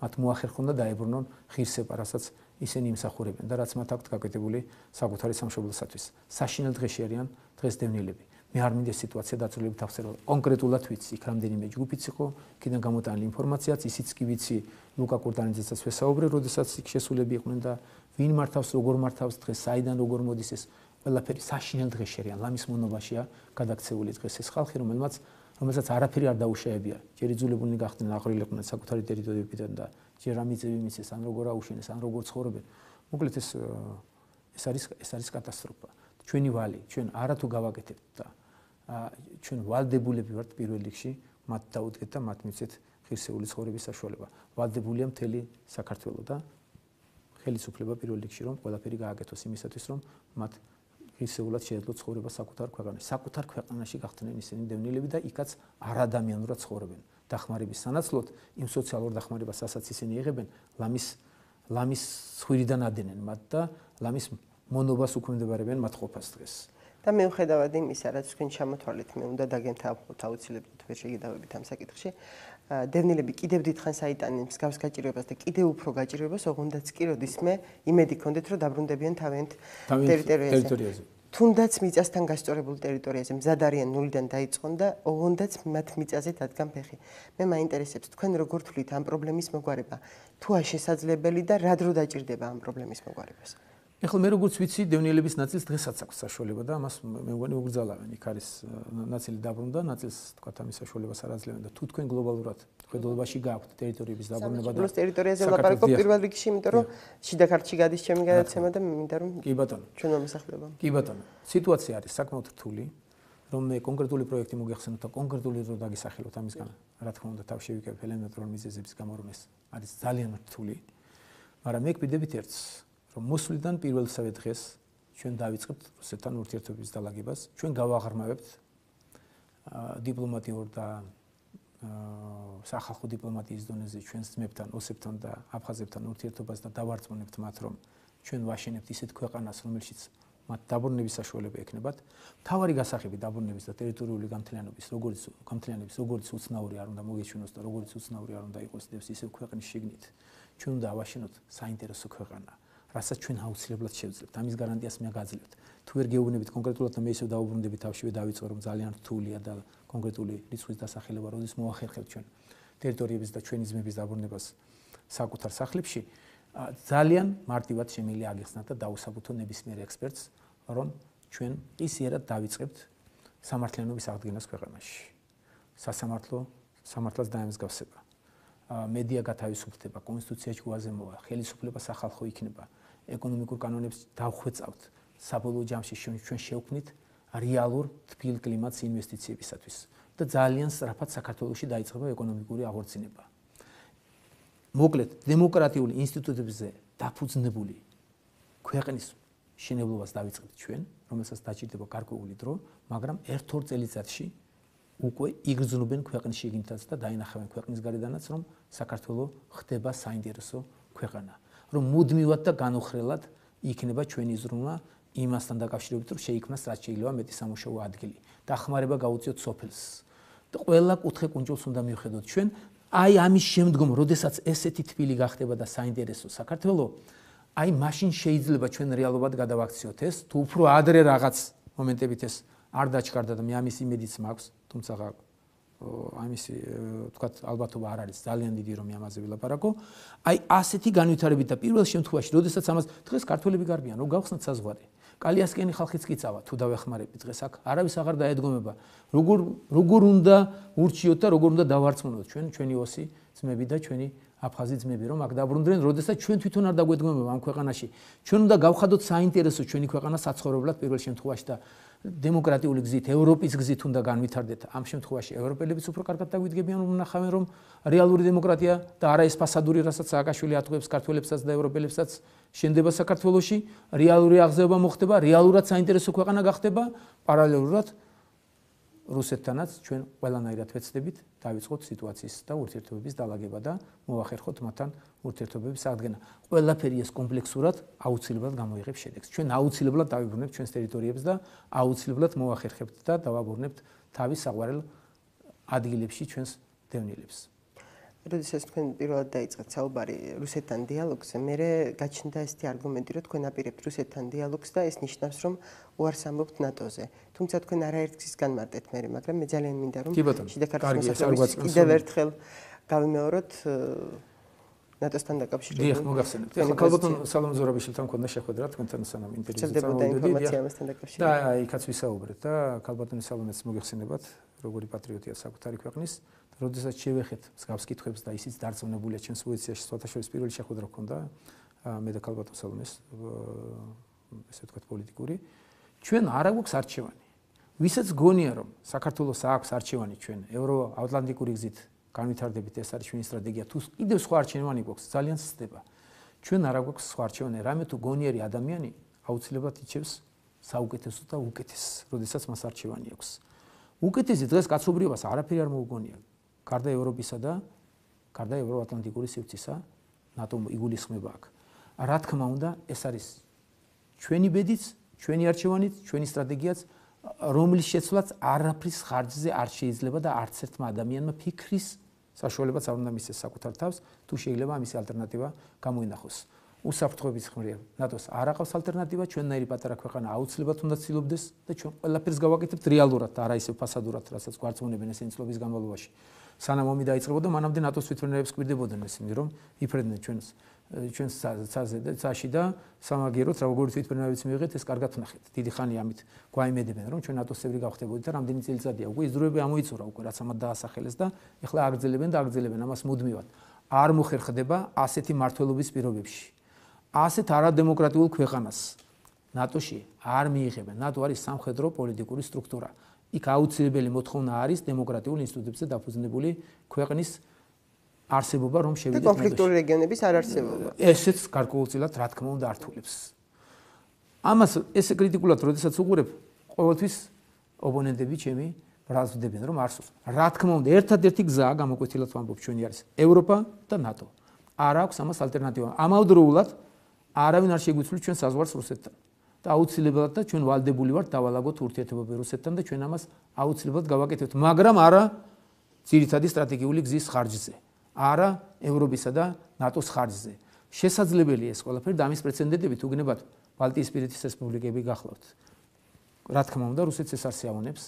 მათ მოახერხონ და დაებრუნონ ღირსება, რასაც ისინი იმსახურებენ და რაც მათ აქვთ გაკეთებული საკუთარი სამშობლოსათვის. საშინელ დღეში არიან დღეს დევნილები. მე არ მინდა სიტუაცია დაწვრილებით აღწერო. კონკრეტულად ვიცი, იქ რამდენიმე ჯგუფიც იყო, იქიდან გამოტანილი ინფორმაციაც, ისიც კი ვიცი ლუკა კურტანიძესაც ვესაუბრე, როდესაც იქ შესულები იყვნენ და ვინ მართავს, როგორ მართავს დღეს, საიდან როგორ მოდის ეს ყველაფერი საშინელ დღეში არიან. ლამის მონობაშია გადაქცეული დღეს ეს ხალხი, რომელსაც არაფერი არ დაუშავებია. ჯერ იძულებულნი გახდნენ აყრილიყვნენ საკუთარი ტერიტორიებიდან და ჯერ ამიწევი მისეს, ან როგორ აუშენეს, ან როგორ ცხოვრობენ. მოკლედ ეს არის კატასტროფა. ჩვენი ვალი, ჩვენ არათუ გავაკეთებთ და ჩვენ ვალდებულები ვართ პირველ რიგში მათ დაუდგეთ და მათ მიცეთ ღირსეული ცხოვრების საშუალება. ვალდებულია მთელი საქართველო და ხელისუფლება პირველ რიგში რომ ყველაფერი გააკეთოს იმისათვის რომ მათ ღირსეულად შეეძლოთ ცხოვრება საკუთარ ქვეყანაში. საკუთარ ქვეყანაში გახდნენ ისინი დევნილები და იქაც არადამიანურად ცხოვრობენ. დახმარების სანაცვლოდ იმ სოციალურ დახმარებას, რასაც ისინი იღებენ, ლამის ცხვირიდან ადენენ მათ და ლამის მონობას უქმდებარებენ მათ ყოფას დღეს. და მიუხედავად იმისა, რაც თქვენ ჩამოთვალეთ, მე უნდა დაგემთავროთ აუცილებლად ვერ შეგიდავებით ამ საკითხში. დევნილები კიდევ დიდხანს აიტანენ მსგავს გაჭირვებას და კიდევ უფრო გაჭირვებას, ოღონდაც კი როდისმე იმედი ჰქონდეთ, რომ დაბრუნდებიან თავიანთ ტერიტორიაზე. თუნდაც მიწასთან გასწორებულ ტერიტორიაზე მზად არიან ნულიდან დაიწყონ და ოღონდაც მათ მიწაზე დადგან ფეხი. მე მაინტერესებს თქვენ როგორ თვლით ამ პრობლემის მოგვარება, თუა შესაძლებელი და რა დრო დაჭირდება ამ პრობლემის მოგვარებას? ეხლა მე როგორც ვიცი, დევნილების ნაწილს დღესაც აქვს საშუალება და ამას მე მგონი უგრძალავენ. იქ არის ნაწილი დაბრუნდა, ნაწილს თქვა ამის საშუალებას არ აძლევენ და თუ თქვენ გლობალურად ხედულობაში გაქვთ ტერიტორიების დაბრუნება და ტერიტორიაზე ვლაპარაკობ პირველ რიგში, იმიტომ რომ შიდა ქართლში გადის ჩემი გადაცემა და მინდა რომ კი ბატონო. ჩვენ მომსახურება. კი ბატონო. სიტუაცია არის საკმაოდ რთული, რომ მე კონკრეტული პროექტი მოგეხსენოთ და კონკრეტული დრო დაგისახელოთ ამისგან. რა თქმა უნდა, თავ შევიკავებ ელემენტარულ მიზეზების გამო რომ ეს არის ძალიან რთული. მაგრამ მე გვიდებით ერთს რომ მოსვლიდან პირველსავე დღეს ჩვენ დავიწყებთ რუსეთთან ურთიერთობების დალაგებას, ჩვენ გავაღრმავებთ დიპლომატიურ და სახალხო დიპლომატიის დონეზე ჩვენს ძმებთან, ოსებთან და აფხაზებთან ურთიერთობას და დავარწმუნებთ მათ, რომ ჩვენ ვაშენებთ ისეთ ქვეყანას, რომელშიც მათ დაბრუნების საშუალება ექნებათ. მთავარი გასაღები დაბრუნების და ტერიტორიული გამთლიანობის, როგორც უცნაური არ უნდა მოგეჩვენოს და როგორც უცნაური არ უნდა იყოს ისევ ქვეყნის შიგნით, ჩვენ უნდა ავაშენოთ საინტერესო ქვეყანა. რასაც ჩვენ აუცილებლად შევძლებთ. ამის გარანტიას მე გაძლევთ. თუ ვერ გეუბნებით კონკრეტულად და მე ისევ დაუბრუნდები თავშივე დავიწყო რომ ძალიან რთულია და კონკრეტული რიცხვის დასახელება როდის მოახერხებთ ჩვენ ტერიტორიების და ჩვენი ძმების დაბრუნებას საკუთარ სახლებში, ძალიან მარტივად შემიძლია აგიხსნათ და დაუსაბუთო ნებისმიერ ექსპერტს, რომ ჩვენ ისიერად დავიწყებთ სამართლიანობის აღდგენას ქვეყანაში. სამართლას დაემსგავსება. მედია გათავისუფლდება, კონსტიტუცია ჯგუფაზე მოვა, ხელისუფლება სახალხო იქნება, ეკონომიკურ კანონებს დავხვეწავთ, საბოლოო ჯამში ჩვენ შევქმნით რეალურ თბილ კლიმატს ინვესტიციებისათვის და ძალიან სწრაფად საქართველოში დაიწყება ეკონომიკური აღორძინება. მოკლედ, დემოკრატიული ინსტიტუტებზე დაფუძნებული ქვეყნის შენებლობას დავიწყებთ ჩვენ, რომელსაც დაჭირდება გარკვეული დრო, მაგრამ 1-2 წელიწადში უკვე იგრძნობენ ქვეყნის შიგნითაც და დაინახავენ ქვეყნის გარედანაც, რომ საქართველოს ხდება საინტერესო ქვეყანა, რომ მუდმივად და განუხრელად იქნება ჩვენი ზრუნვა იმასთან დაკავშირებით, რომ შეიქმნას რაც შეიძლება მეტი სამუშაო ადგილი. დახმარება გაუწიოთ სოფელს. და ყველა კუთხე კუნჭულს უნდა მივხედოთ ჩვენ. აი ამის შემდგომ, როდესაც ესეთი თბილი გახდება და საინტერესო საქართველოს, აი მაშინ შეიძლება ჩვენ რეალობად გადავაქციოთ ეს, თუ უფრო ადრე რაღაც მომენტებით ეს არ დაჩქარდა და მე ამის იმედიც მაქვს, თუმცა ამისი თქვათ ალბათობა არ არის ძალიან დიდი რომ ამაზე ვილაპარაკო. აი ასეთი განვითარებით და პირველ შემთხვევაში, როდესაც ამას დღეს ქართველები გარბიან, რომ გავხსნათ საზღვარი. კალიასკენი ხალხიც კი წავა, თუ დავეხმარებით დღეს აქ არავის აღარ დაედგომება. როგორ უნდა ურჩიოთ და როგორ უნდა დავარწმუნოთ ჩვენი ოსი ძმები და ჩვენი აფხაზი ძმები, რომ აქ დაბრუნდნენ, როდესაც ჩვენ თვითონ არ დაგვედგომება ამ ქვეყანაში. ჩვენ უნდა გავხადოთ საინტერესო ჩვენი ქვეყანა საცხოვრებლად პირველ შემთხვევაში და დემოკრატიული გზით, ევროპის გზით უნდა განვითარდეთ. ამ შემთხვევაში ევროპელებიც უფრო კარგად დაგვიდგებიან, რომ ნახავენ, რომ რეალური დემოკრატია და არა ეს ფასადური, რასაც სააკაშვილი ატყუებს ქართველებსაც და ევროპელებსაც შენდება საქართველოში, რეალური აღზევება მოხდება, რეალურად საინტერესო ქვეყანა გახდება, პარალელურად რუსეთთანაც ჩვენ ყველანაირად ვეცდებით დავიწყოთ სიტუაციის და ურთიერთობების დალაგება და მოვახერხოთ მათთან ურთიერთობების აღდგენა. ყველაფერი ეს კომპლექსურად აუცილებლად გამოიღებს შედეგს. ჩვენ აუცილებლად დავიბრუნებთ ჩვენს ტერიტორიებს და აუცილებლად მოვახერხებთ და დავაბორნებთ თავის საყვარელ ადგილებში ჩვენს დევნილებს. როდესაც თქვენ პირველად დაიწყეთ საუბარი რუსეთთან დიალოგზე, მე გაჩნდა ესეთი არგუმენტი, რომ თქვენ აპირებთ რუსეთთან დიალოგს და ეს ნიშნავს, რომ უარს ამბობთ ნატოზე. თუმცა თქვენ არაერთგზის განმარტეთ მე, მაგრამ მე ძალიან მინდა რომ შიდა ქართლის მოსახლეობის კიდევ ერთხელ გავიმეოროთ ნატოსთან დაკავშირებით. დიახ, მოგახსენებთ. ახლა ქალბატონ სალომ ზურაბიშვილთან მქონდა შეხვედრა თქვენთან სანამ ინტერვიუზე წავიდოდი და იქაც ვისაუბრეთ და ქალბატონი სალომეც მოგეხსენებათ, როგორი პატრიოტია საკუთარი ქვეყნის. როდესაც შევეხეთ მსგავს კითხვებს და ისიც დარწმუნებულია ჩვენს პოზიციაში, სხვათაშორის პირველი შეხვედრა ჰქონდა მე და ქალბატონ სალომეს, ესე ვთქვათ პოლიტიკური. ჩვენ არ აქვს არჩევანი. ვისაც გონია რომ საქართველოს აქვს არჩევანი ჩვენ ევროატლანტიკური გზით განვითარდებით, ეს არის ჩვენი სტრატეგია, თუ კიდევ სხვა არჩევანი გვაქვს, ძალიან სცდება. ჩვენ არ აქვს სხვა არჩევანი, რამე თუ გონიერი ადამიანი აუცილებლად იჩევს საუკეთესო და უკეთესს, როდესაც მას არჩევანი აქვს. უკეთესი დღეს კაცობრიობას არაფერი არ მოუგონია. გარდა ევროპისა და გარდა ევროატლანტიკური სივრცისა, ნატო იგულისხმება აქ. რა თქმა უნდა, ეს არის ჩვენი ბედიც, ჩვენი არჩევანიც, ჩვენი სტრატეგიაც, რომლის შეცვლაც არაფრის ხარჯზე არ შეიძლება და არც ერთმა ადამიანმა ფიქრის საშუალებაც არ უნდა მისცეს საკუთარ თავს, თუ შეიძლება ამის ალტერნატივა გამოინახოს. უსაფრთხოების მხრივ ნატოს არ აყავს ალტერნატივა, ჩვენნაირი პატარა ქვეყანა აუცილებლად უნდა ცდილობდეს და ჩვენ ყველაფერს გავაკეთებთ რეალურად და არა ისე ფასადურად, რასაც გვარწმუნებენ ესენი წლების განმავლობაში. სანამ ომი დაიწყებოდა, მანამდე ნატოს თვითმფრინავებს კვირდებოდნენ ესენი, რომ იფრედნენ ჩვენს ცაზე და ცაში და სამაგიეროდ როგორი თვითმფრინავებიც მიიღეთ, ეს კარგად ვნახეთ. დიდი ხანი ამით გვაიმედებენ, რომ ჩვენ ნატოს წევრი გავხდებოდით და რამდენი წელიწადია უკვე ის დროები ამოიწურა უკვე, რაც ამათ დაასახელეს და ეხლა აგრძელებენ და აგრძელებენ ამას მუდმივად. არ მოხერხდება ასეთი მართლობის პირობებში. ასეთ არადემოკრატიულ ქვეყანას ნატოში არ მიიღებენ. ნატო არის სამხედრო პოლიტიკური სტრუქტურა. იქ აუცილებელი მოთხოვნა არის დემოკრატიულ ინსტიტუტებზე დაფუძნებული ქვეყნის არსებობა, რომ შევიდეთ ნატოში. კონფლიქტური რეგიონების არ არსებობა. ესეც გარკვეულწილად რა თქმა უნდა ართულებს. ამას ესე კრიტიკულად როდესაც უყურებ, ყოველთვის ოპონენტები ჩემი ბრალდებიან, რომ არსოს. რა თქმა უნდა, ერთადერთი გზაა გამოკვეთილად ვამბობ ჩვენი არის ევროპა და ნატო. არ აქვს ამას ალტერნატივა. ამავდროულად არავინ არ შეგვიცვლით ჩვენ საზღვარს რუსეთთან. და აუცილებლად და ჩვენ ვალდებული ვართ დავალაგოთ ურთიერთობები რუსეთთან და ჩვენ ამას აუცილებლად გავაკეთებთ, მაგრამ არა ძირითადი სტრატეგიული გზის ხარჯზე, არა ევროპისა და ნატოს ხარჯზე. შესაძლებელია ეს ყველაფერი და ამის პრეცედენტები თუ გნებათ ბალტიისპირეთის რესპუბლიკები გახლავთ. რა თქმა უნდა, რუსეთს ეს არ შეავონებს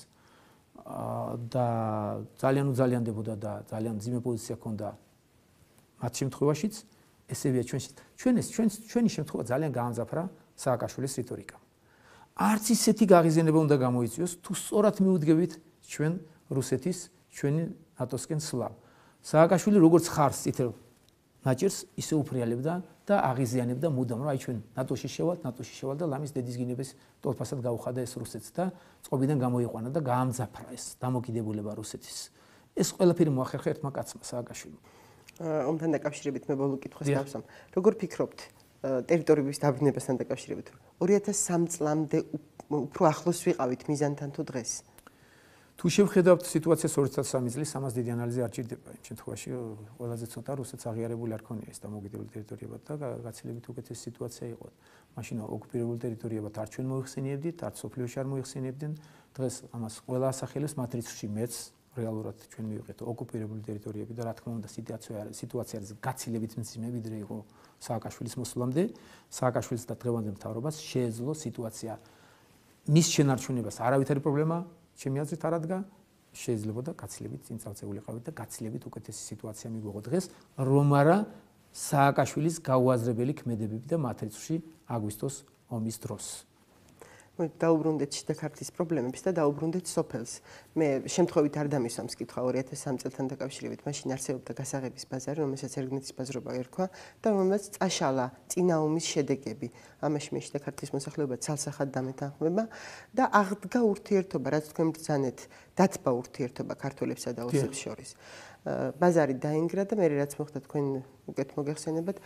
და ძალიან უძალიანდებოდა და ძალიან მძიმე პოზიცია ჰქონდა მათ შემთხვევაშიც, ესევია ჩვენი შემთხვევა ძალიან გაამძაფრა სააკაშვილის რიტორიკა. არც ისეთი გაღიზიანება უნდა გამოიწვიოს, თუ სწორად მიუდგებით ჩვენ რუსეთის ჩვენი ნატოსკენ სვლა. სააკაშვილი როგორც ხარს წითელ ნაჭერს ისე უფრიალებდა და აღიზიანებდა მუდამ, რომ აი ჩვენ ნატოში შევალ და ლამის დედის გინების ტოლფასად გაუხადა ეს რუსეთს და წყობიდან გამოიყვანა და გაამძაფრა ეს დამოკიდებულება რუსეთის. ეს ყველაფერი მოახერხა ერთმა კაცმა სააკაშვილმა. ომთან დაკავშირებით მე ბოლო კითხვას გავსამ. როგორ ფიქრობთ ტერიტორიების დაბრუნებასთან დაკავშირებით 2003 წლამდე უფრო ახლოს ვიყავით მიზანთან თუ დღეს? თუ შევხედავთ სიტუაციას 2003 წლის, ამას დიდი ანალიზი არ ჭირდება. იმ შემთხვევაში ყველაზე ცოტა რუსეთს აღიარებული არ ქონია ეს დამოუკიდებელი ტერიტორიებად და გაცილებით უკეთესი სიტუაცია იყო. მაშინ ოკუპირებულ ტერიტორიებად არ ჩვენ მოიხსენიებდით, არ სოფლიოში არ მოიხსენიებდნენ. დღეს ამას ყველა ასახელებს მატრიცში მეც რეალურად ჩვენ მივიღეთ ოკუპირებული ტერიტორიები და რა თქმა უნდა სიტუაცია არის გაცილებით მძიმე ვიდრე იყო სააკაშვილის მოსვლამდე. სააკაშვილის და დღევანდელ მთავრობას შეეძლო სიტუაცია მის შენარჩუნებას არავითარი პრობლემა ჩემი აზრით არ ადგა, შეიძლებოდა გაცილებით წინ წავწეულიყავით და გაცილებით უკეთესი სიტუაცია მიგვიღო დღეს, რომ არა სააკაშვილის გაუაზრებელი ქმედებები და მატრიცში აგვისტოს ომის დროს. დაუბრუნდეთ შიდა ქართლის პრობლემებს და დაუბრუნდეთ სოფელს. მე შემთხვევით არ დამისვამს კითხვა 2003 წელთან დაკავშირებით. მაშინ არსებობდა გასაღების ბაზარი, რომელსაც ერგნეთის ბაზრობა ერქვა და რომელსაც წაშალა წინა ომის შედეგები. ამაში მე შიდა ქართლის მოსახლეობა ცალსახად დამეთანხმება და აღდგა ურთიერთობა, რაც თქვენ ბრძანეთ, დათბა ურთიერთობა ქართველებსა და ოსებს შორის. ბაზარი დაინგრა და მე რაც მოხდა თქვენ უკეთ მოგეხსენებათ,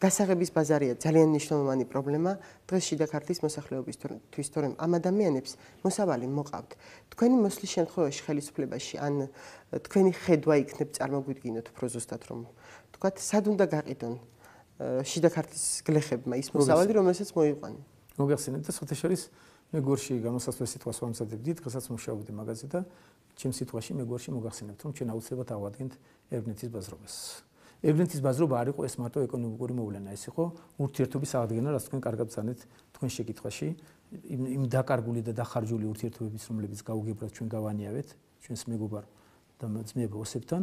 გასაღების ბაზარია ძალიან მნიშვნელოვანი პრობლემა დღეს შიდა ქართლის მოსახლეობისთვის, თორემ ამ ადამიანებს მოსავალი მოყავთ. თქვენი მოსვლის შემთხვევაში ხელისუფლებაში ან თქვენი ხედვა იქნებ წარმოგვიდგინოთ უფრო ზუსტად რომ თქვათ, სად უნდა გაყიდონ შიდა ქართლის გლეხებმა ის მოსავალი, რომელსაც მოიყვანენ. მოგეხსენებთ და საერთაშორის მე გორში გამოსასვლელ სიტყვას ვამზადებდი, დღესაც მუშაობდი მაგაზე და ჩემ სიტყვაში მე გორში მოგახსენებთ, რომ ჩვენ აუცილებლად ავადგენთ ერგნეთის ბაზრობას. ერგნეთის ბაზრობა არ იყო ეს მარტო ეკონომიკური მოვლენა, ეს იყო ურთიერთობის აღდგენა, რაც თქვენ კარგად ბრძანეთ თქვენ შეკითხვაში, იმ დაკარგული და დახარჯული ურთიერთობების, რომლებიც გაუგებრად ჩვენ გავანიავეთ, ჩვენს მეგობარ და ძმებ ოსებთან,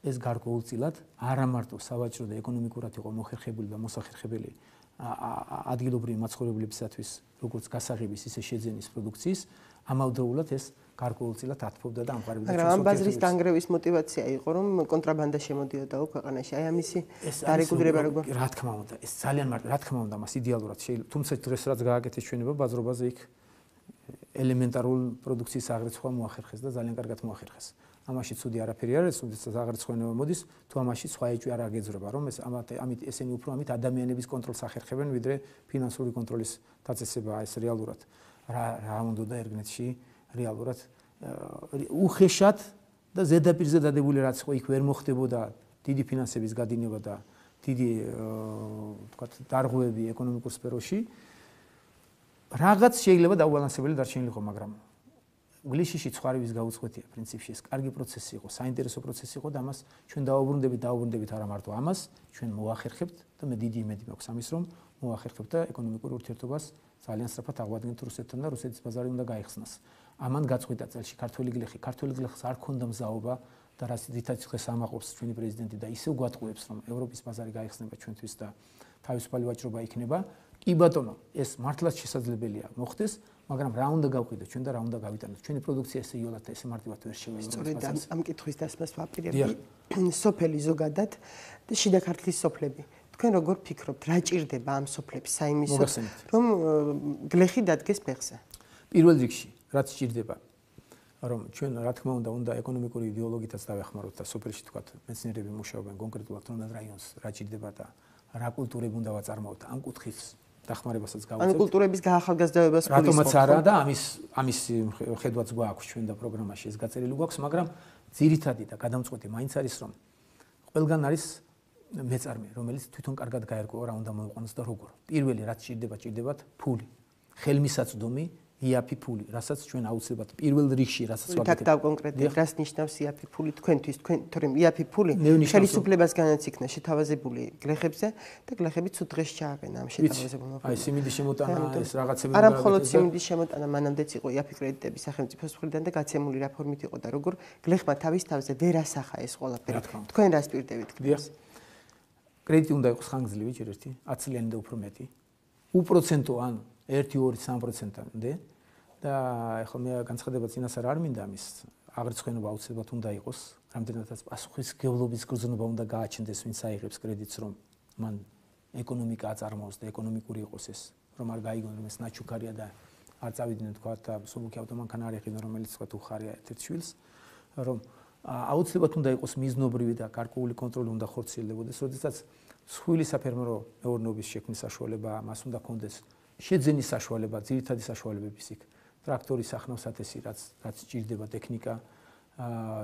ეს გარკვეულწილად არა მარტო სავაჭრო და ეკონომიკურად იყო მოხერხებული და მოსახერხებელი ადგილობრივი მაცხოვრებლებისათვის, როგორც გასაღების, ისე შეძენის პროდუქციის, ამავდროულად ეს გარკვეულწილად ათფობდა და ამყარებდა ჩვენს ამ ბაზრის დანგრევის мотиваცია იყო, რომ კონტრაბანდა შემოდიოდა ქვეყანაში. აი ამისი დარეგულირება როგორ? რა თქმა უნდა, ეს ძალიან რა თქმა უნდა, მას იდეალურად შეიძლება. თუმცა დღეს რაც გააკეთეს ჩვენება ბაზრობაზე იქ ელემენტარულ პროდუქციის აღრიცხვა მოახერხეს და ძალიან კარგად მოახერხეს. ამაში ცუდი არაფერი არ არის, თუმცა აღრიცხვა მოდის, თუ ამაში სხვა ეჭვი არ აგეძრება, რომ ამით ესენი უფრო ამით ადამიანების კონტროლს ახერხებენ, ვიდრე ფინანსური კონტროლის დაწესება ეს რეალურად რა უნდა ერგნეთში რეალურად უხეშად და ზედაპირზე დადებული რაც ხო იქ ვერ მოხდებოდა დიდი ფინანსების გადინება და დიდი თქვათ დარღვევები ეკონომიკურ სფეროში რაღაც შეიძლება დაუბალანსებელი დარჩენილიყო, მაგრამ გლიშიში ცხვარივის გაუწყვეტია პრინციპში ეს კარგი პროცესი იყო, საინტერესო პროცესი იყო და ამას ჩვენ დაუბრუნდებით არა მარტო ამას, ჩვენ მოახერხებთ და მე დიდი იმედი მაქვს ამის, რომ მოახერხებთ და ეკონომიკურ ურთიერთობას ძალიან სწრაფად აღვადგენთ რუსეთთან და რუსეთის ბაზარი უნდა გაიხსნას. ამან გაწყვიტა წელში ქართველი გლეხს არ ქონდა მზაობა და რითაც დღეს ამაყობს ჩვენი პრეზიდენტი და ისევ გვატყუებს, რომ ევროპის ბაზარი გაიხსნება ჩვენთვის და თავისუფალი ვაჭრობა იქნება. კი ბატონო, ეს მართლაც შესაძლებელია მოხდეს, მაგრამ რა უნდა გავყიდოთ ჩვენ და რა უნდა გავიტანოთ. ჩვენი პროდუქცია ესე იოლად და ესე მარტივად ვერ შევეძლოთ. სწორედ ამ კითხვის დასმას ვაპირებდი. სოფელი ზოგადად და შიდა ქართლის სოფლები. თქვენ როგორ ფიქრობთ, რა ჭირდება ამ სოფლებს საიმისოდ, რომ გლეხი დადგეს ფეხზე? პირველ რიგში, რაც ჭირდება, რომ ჩვენ რა თქმა უნდა ეკონომიკური იდეოლოგიითაც დავეხმაროთ და სოფელში თქვათ მეცნიერები მუშაობენ კონკრეტულად თუნდაც რაიონს რა ჭირდება და რა კულტურები უნდა ვაწარმოოთ ამ კუთხის დახმარებასაც გავუწევთ. ანუ კულტურების გაახალგაზრდებას რატომაც არა და ამის ხედვაც გვაქვს ჩვენ და პროგრამაში ეს გაწერილი გვაქვს, მაგრამ ძირითადი და გადამწყვეტი მაინც არის, რომ ყველგან არის მეწარმე, რომელიც თვითონ კარგად გაერკვევა რა უნდა მოიყვანოს და როგორ. პირველი რაც ჭირდებათ ფული, ხელმისაწვდომი, იაფი ფული, რასაც ჩვენ აუცილებლად პირველ რიგში რასაც ვაკეთებთ. და კონკრეტულად რას ნიშნავს იაფი ფული თქვენთვის, თორემ იაფი ფული ხელისუფლებასგანაც იქნა შეთავაზებული გლეხებზე და გლეხები ცუდ დღეს ჩააყენა ამ შეთავაზებულმა ფულმა. აი სიმინდის შემოტანა ეს რაღაცები არა მხოლოდ სიმინდის შემოტანა, მანამდეც იყო იაფი კრედიტები სახელმწიფოს მხრიდან და გაცემული რა ფორმით იყო და როგორ გლეხმა თავის თავზე ვერ ასახა ეს ყველაფერი. თქვენ რას პირდებით? კრედიტი უნდა იყოს ხანგრძლივი ჯერ ერთი 10 წლიანი და უფრო მეტი. უპროცენტო ან 1-2-3%-მდე და ახლა მე განცხადება წინასწარ არ მინდა ამის აღრიცხვენობა აუცილებლად უნდა იყოს, რამდენადაც პასუხისმგებლობის გრძნობა უნდა გააჩნდეს, ვინც აიღებს კრედიტს, რომ მან ეკონომიკა აწარმოოს და ეკონომიკური იყოს ეს, რომ არ გაიგონ, რომ ეს ნაჩუქარია და არ წავიდნენ თქვა და სულუკი ავტომანქანა არ ეყიდონ, რომელიც თქვა უხარია ერთ-ერთ შვილს, რომ აუცილებლად უნდა იყოს მიზნობრივი და გარკვეული კონტროლი უნდა ხორციელდებოდეს, როდესაც სხვილი საფერმერო მეურნეობის შექმნის საშუალება, მას უნდა კონდეს შეძენის საშუალება, ძირითადი საშუალებების იქ, ტრაქტორის სახნავსათესი, რაც ჭირდება ტექნიკა,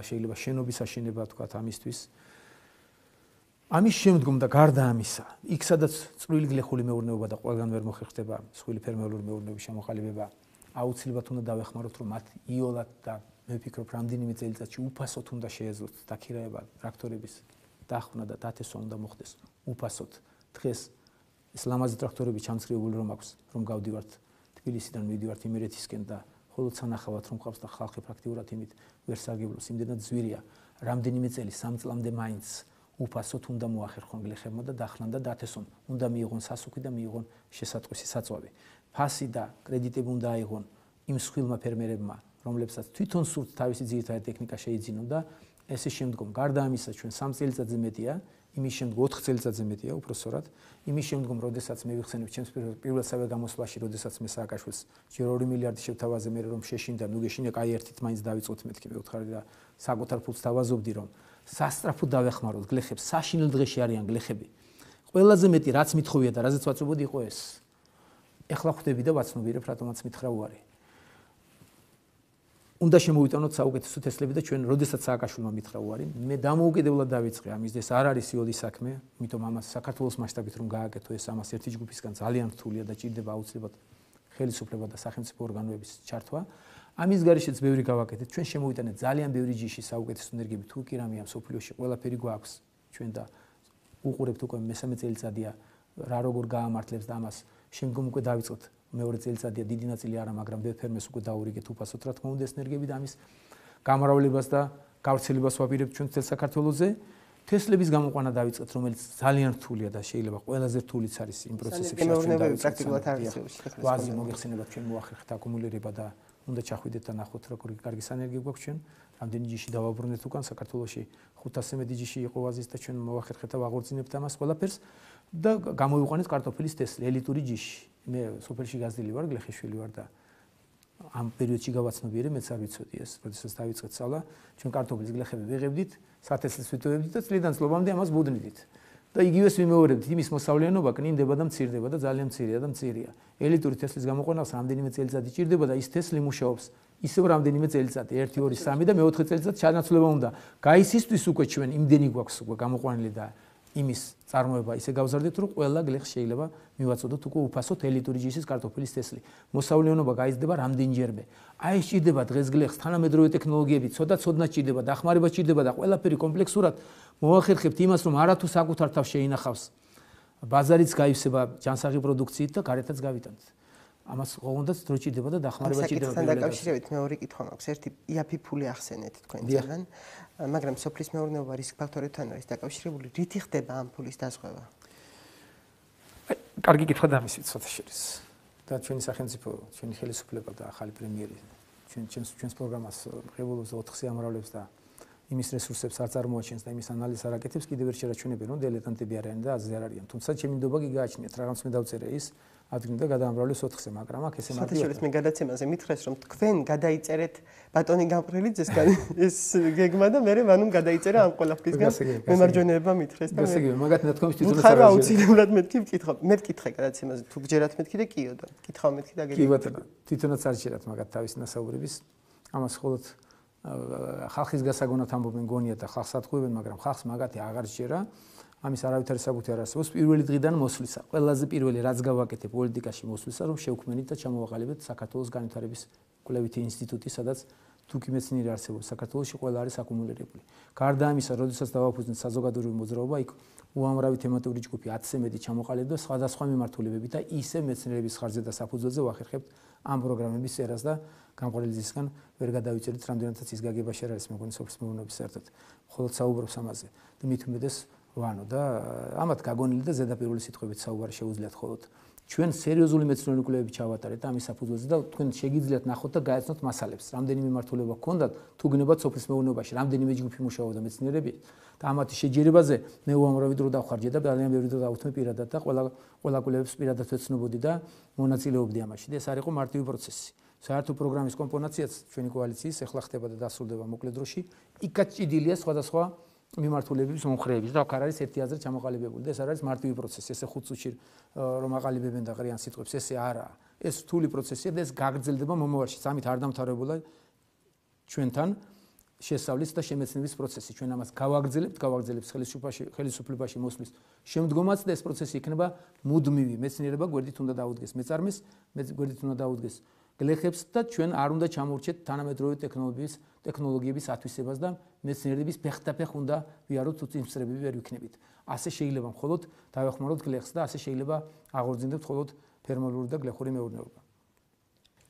შეიძლება შენობის აშენება თქვა ამისთვის. ამის შემდგომ და გარდა ამისა, იქ სადაც წვრილი გლეხული მეურნეობა და ყველგან ვერ მოხერხდება სხვილი ფერმერული მეურნეობის შემოყალიბება, აუცილებლად უნდა დავეხმაროთ, რომ მათ იოლად და მე ვფიქრობ, რამდენიმე წელიწადში უფასოდ უნდა შეეძლოთ დაქირაება ტრაქტორების დახვნა და დათესვა უნდა მოხდეს უფასოდ. დღეს ეს ლამაზი ტრაქტორები ჩამცრიული რომ აქვს, რომ გავდივართ თბილისიდან მივიდივართ იმერეთისკენ და ხოლო სანახავად რომ ყავს და ხალხი პრაქტიკულად იმით ვერ სარგებლობს, იმდენად ზვირია, რამდენიმე წელი 3 წლამდე მაინც უფასოდ უნდა მოახერხონ გლეხებმა და დახლან და დათესვან, უნდა მიიღონ სასუქი და მიიღონ შესატყვისი საწვავი. ფასი და კრედიტები უნდა აიღონ იმ სხვილმა ფერმერებმა, რომლებსაც თვითონ სურთ თავისი ძირითადი ტექნიკა შეიძინონ და ესე შემდგომ გარდა ამისა ჩვენ 3 წელიწადზე მეტია, იმის შემდგომ 4 წელიწადზე მეტია, უпроსორად, იმის შემდგომ, როდესაც მე ვიხსენებ ჩემს პირველსავე გამოსვლაში, როდესაც მე სააკაშვილს ჯერ 2 მილიარდი შევთავაზე, მე რომ შეშინდა, ნუ გეშინია, კაი ერთით მაინც დავიწყოთ მეთქი, მე ვთხარი და საკუთარ ფულს თავაზობდი, რომ სასტრაფოდ დავეხმაროთ გლეხებს, საშინელ დღეში არიან გლეხები. ყველაზე მეტი რაც მithოვია და რაზეც ვაწვევოდი იყო ეს. ეხლა ხვდები და ვაცნობიერებ, რატომაც მითხრა უარი. უნდა შემოვიტანოთ საუკეთესო თესლები და ჩვენ როდესაც სააკაშვილმა მითხრა უარი, მე დამოუკიდებლად დავიწყე ამის და ეს არ არის იოდი საქმე, იმიტომ ამას საქართველოს მასშტაბით რომ გააკეთო ეს ამას ერთი ჯგუფისგან ძალიან რთულია და ჭირდება აუცილებლად ხელისუფლება და სახელმწიფო ორგანოების ჩართვა. ამის გარეშეც ბევრი გავაკეთეთ, ჩვენ შემოვიტანეთ ძალიან ბევრი ჯიში საუკეთესო ენერგიები, თუ კი რამეა სოფლიოში ყველაფერი გვაქვს ჩვენ და უყურებთ უკვე მესამე წელიწადია რა როგორ გაამართლებს და ამას შემდგომ უკვე დავიწყოთ მეორე წელიწადია დიდი ნაწილი არა, მაგრამ ბევრ ფერმერს უკვე დაურიგეთ უფასოდ რა თქმა უნდა ეს ენერგიები და ამის გამრავლებას და გავრცელებას ვაპირებთ ჩვენ მთელ საქართველოზე. თესლების გამოყვანა დავიწყეთ, რომელიც ძალიან რთულია და შეიძლება ყველაზე რთულიც არის იმ პროცესებში, რაც ჩვენ პრაქტიკულად არ არის. ვაზი მოგეხსენებათ ჩვენ მოახერხეთ აკუმულირება და უნდა ჩახვიდეთ და ნახოთ როგორი კარგი სანერგი გვაქვს ჩვენ. რამდენი ჯიში დავაბრუნეთ უკან საქართველოში 500 მეტი ჯიში იყო ვაზის და ჩვენ მოახერხეთ და ვაღორწინებთ ამას ყველაფერს და გამოვიყვანეთ კარტოფილის თესლი ელიტური ჯიში. მე სოფელში გაზრდილი ვარ, გლეხიშვილი ვარ და ამ პერიოდში გავაცნობიერე, მეც არ ვიცოდი ეს, როდესაც დავიწყეთ სწავლა, ჩვენ კარტოფილის გლეხები ვიღებდით, სათესლს ვიტოვებდით და წლიდან წლობამდე ამას ბუდნიდით. და იგივეს ვიმეორებდით, იმის მოსავლიანობა კნინდება და მცირდება და ძალიან მცირეა და მცირეა. ელიტური თესლის გამოყვანას რამდენიმე წელიწადი ჭირდება და ის თესლი მუშაობს ისევ რამდენიმე წელიწადი, 1, 2, 3 და მე-4 წელიწად ჩანაცვლება უნდა. გაისისთვის უკვე ჩვენ იმდენი გვაქვს უკვე გამოყვანილი და იმის წარმოება ისე გავზარდეთ, რომ ყველა გლეხს შეიძლება მივაწოდოთ უკვე უფასოდ ელიტური ჯიშის კარტოფილის თესლი. მოსავლიანობა გაიზრდება რამდენჯერმე. აი ეს ჭირდება დღეს გლეხს თანამედროვე ტექნოლოგიები, ცოტა ჭირდება, დახმარება ჭირდება და ყველაფერი კომპლექსურად მოახერხებთ იმას, რომ არათუ საკუთარ თავს შეინახავს. ბაზარიც გაივსება ჯანსაღი პროდუქციით და გარეთაც გავიტანთ. ამას ოღონდაც დრო ჭირდება და დახმარება ჭირდება. საკითხთან დაკავშირებით მეორე კითხვა მაქვს. ერთი იაფი ფული ახსენეთ თქვენთან, მაგრამ სოფლის მეურნეობა რისკ ფაქტორებთან არის დაკავშირებული. რითი ხდება ამ ფულის დაზღვევა? კარგი კითხვა დამისვით ცოტა შერის. და ჩვენი სახელმწიფო, ჩვენი ხელისუფლება და ახალი პრემიერი ჩვენს პროგრამას ღებულობს 4-ზე ამრავლებს და იმის რესურსებს არ წარმოაჩენს და იმის ანალიზს არ აკეთებს, კიდევ ვერ შერაჩუნებენ, რომ დილეტანტები არიან და აზრი არ არიან. თუმცა ჩემი ნდობა კი გააჩნიათ, რაღაც მე დავწერე ის ადგილიდან გადაამრავლეს 4-ზე, მაგრამ აქ ესე მარტივად მე გადაცემაზე მითხრეს, რომ თქვენ გადაიწერეთ ბატონი გამყრელიძესგან ეს გეგმა და მე მანუმ გადაიწერა ამ ყველაფრისგან მემარჯვენეებმა მითხრეს და მე მაგათ ნათქვამის თვითონაც არ არის. აუცილებლად მეთქი ვკითხავ. მე ვკითხე გადაცემაზე, თუ გჯერათ მეთქი და კიო და კითხავ მეთქი და გეკითხე. კი ბატონო, თვითონაც არ ჯერათ მაგათ თავის ნასაუბრების. ამას მხოლოდ ხალხის გასაგონად ამბობენ გონია და ხალხს ატყუებენ, მაგრამ ხალხს მაგათი აღარ ჯერა. ამის არავითარი საბუთი არ არსებობს. პირველი დღიდან მოსვლისა, ყველაზე პირველი რაც გავაკეთე პოლიტიკაში მოსვლისა, რომ შევქმნით და ჩამოვაყალიბეთ საქართველოს განვითარების კვლევითი ინსტიტუტი, სადაც თუკი მეცნიერი არსებობს საქართველოში, ყველა არის აკუმულირებული. გარდა ამისა, როდესაც დავაფუძნეთ საზოგადოებრივი მოძრაობა, იქ უამრავი თემატური ჯგუფი 10-ზე მეტი ჩამოყალიბდა სხვადასხვა მიმართულებებით და ისე მეცნიერების ხარჯზე და საფუძველზე ვახერხებთ ამ პროგრამების წერას და გამყრელიძისგან ვერ გადავიწერეთ, რამდენადაც ის გაგება შე არის მეგონი სოფლის მეურნეობის საერთოდ. მხოლოდ საუბრობს ამაზე და მით უმეტეს ვანო და ამათ გაგონილი და ზედაპირული სიტყვებით საუბარი შეუძლიათ მხოლოდ ჩვენ სერიოზული მეცნიერული კვლევები ჩავატარეთ ამის საფუძველზე და თქვენ შეგიძლიათ ნახოთ და გაეცნოთ მასალებს. რამდენი მიმართულება გქონდათ, თუ გნებათ სოფლის მეურნეობაში, რამდენიმე ჯგუფი მუშაობდა მეცნიერები და ამათი შეჯერებაზე მე უამრავი დრო დავხარჯე და ძალიან ბევრი დრო დავუთმე პირადად და ყველა კვლევებს პირადად ვეცნობოდი და მონაწილეობდი ამაში. და ეს არ იყო მარტივი პროცესი. საერთო პროგრამის კომპონაციაც ჩვენი კოალიციის ეხლა ხდება და დასრულდება მოკლე დროში. იქაც ჭიდილია სხვადასხვა მიმართულების მომხრეების და აქ არ არის ერთი აზრი ჩამოყალიბებული და ეს არ არის მარტივი პროცესი. ესე 5 წუთში რომ აყალიბებენ და ღრიან სიტყვებს, ესე არაა. ეს რთული პროცესია და ეს გაგრძელდება მომავალში. ამით არ დამთავრებულა ჩვენთან შესწავლის და შემეცნების პროცესი. ჩვენ ამას გავაგრძელებთ ხელისუფლებაში მოსვლის შემდგომაც და ეს პროცესი იქნება მუდმივი. მეცნიერება გვერდით უნდა დაუდგეს მეწარმეს, გვერდით უნდა დაუდგეს გლეხებს და ჩვენ არ უნდა ჩამოვრჩეთ თანამედროვე ტექნოლოგიების ათვისებას და მეცნიერების ფეხდაფეხ უნდა ვიაროთ თუ წინსწრებები ვერ ვიქნებით. ასე შეიძლება მხოლოდ დავეხმაროთ გლეხს და ასე შეიძლება აღორძინდეთ მხოლოდ ფერმალური და გლეხური მეურნეობა.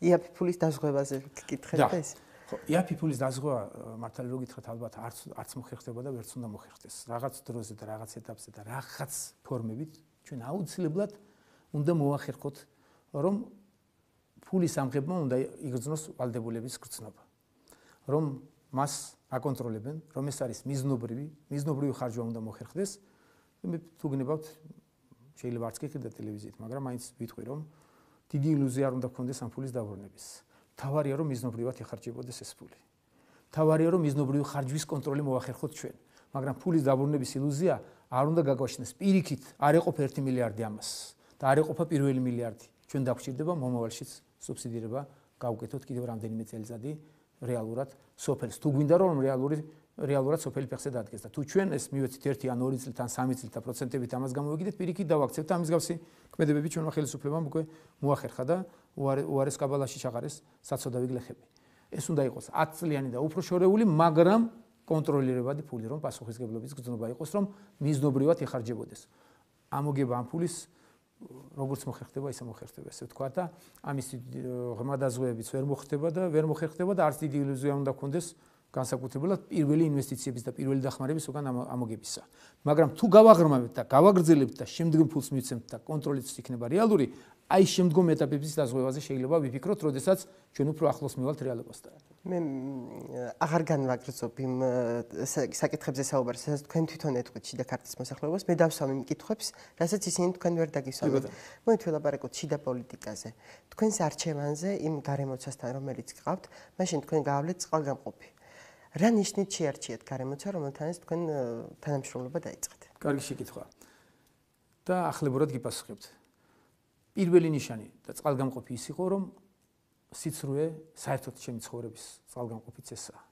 იაფი-ფულის დაზღვევაზე გკითხეთ ეს? ხო, იაფი-ფულის დაზღვევა მართალი რო გითხრათ ალბათ არც მოხერხდება და ვერც უნდა მოხერხდეს. რაღაც დროზე და რაღაც ეტაპზე და რაღაც ფორმებით ჩვენ აუცილებლად უნდა მოახერხოთ რომ ფულის ამღებმა უნდა იგრძნოს ვალდებულების გრძნობა. რომ მას აკონტროლებენ, რომ ეს არის მიზნობრივი ხარჯვა უნდა მოხერხდეს. მე თუ გნებავთ შეიძლება არც გეკიდა ტელევიზიით, მაგრამ მაინც ვიტყვი რომ დიდი ილუზია არ უნდა გქონდეს ამ ფულის დაბრუნების. თავარია რომ მიზნობრივად ეხარჯებოდეს ეს ფული. თავარია რომ მიზნობრივი ხარჯვის კონტროლი მოახერხოთ ჩვენ. მაგრამ ფულის დაბრუნების ილუზია არ უნდა გაგვაშნდეს. პირიქით არ ეყოფა 1 მილიარდი ამას და არ ეყოფა პირველი მილიარდი. ჩვენ დაგვჭირდება მომავალშიც სუბსიდირება გავუკეთოთ კიდევ რამდენიმე წელიწადი რეალურად სოფელს. თუ გვინდა რომ რეალურად სოფელი ფეხზე დადგეს და თუ ჩვენ ეს მივეცით 1 ან 2 წლით ან 3 წლით და პროცენტებით ამას გამოვიგდეთ, პირიქით დავაქცევთ და ამის გავსი ქმედებები ჩვენმა ხელისუფლებამ უკვე მოახერხა და უარეს კაბალაში ჩაყარეს საცოდავი გლეხები. ეს უნდა იყოს 10 წლიანი და უფრო შორეული, მაგრამ კონტროლირებადი ფული, რომ პასუხისგებლობის გრძნობა იყოს, რომ მიზნობრივად ეხარჯებოდეს. ამოგება ამ ფულის როგორც მოხერხდება, ისე მოხერხდება, ესე ვთქვა და ამის ღრმა დაზღვევებიც ვერ მოხერხდება და არც დიდი ილუზია უნდა გქონდეს განსაკუთრებულად პირველი ინვესტიციების და პირველი დახმარების უკან ამოგებისა. მაგრამ თუ გავაღრმავებთ და გავაგრძელებთ და შემდგომ ფულს მივცემთ და კონტროლიც იქნება რეალური, აი შემდგომ ეტაპების დაზღვევაზე შეიძლება ვიფიქროთ, როდესაც ჩვენ უფრო ახლოს მივალთ რეალობასთან. მე აღარ განვაგრძობ იმ საკითხებზე საუბარს, სადაც თქვენ თვითონ ეთქვით შიდა ქართლის მოსახლეობას, მე დავსვამ იმ კითხვებს, რასაც ისინი თქვენ ვერ დაგისვამეთ. მოით ვილაპარაკოთ შიდა პოლიტიკაზე. თქვენს არჩევანზე იმ გარემოცასთან, რომელიც გყავთ, მაშინ თქვენ გაავლეთ წყალგამყოფი. რა ნიშნით შეარჩიეთ გარემოცა, რომელთანაც თქვენ თანამშრომლობა დაიწყეთ? კარგი შეკითხვა. და ახლებურად გიპასუხებთ. პირველი ნიშანი და წყალგამყოფი ის იყო, რომ სიცრუე საერთოდ ჩემი ცხოვრების წყალგამყოფიც ესაა.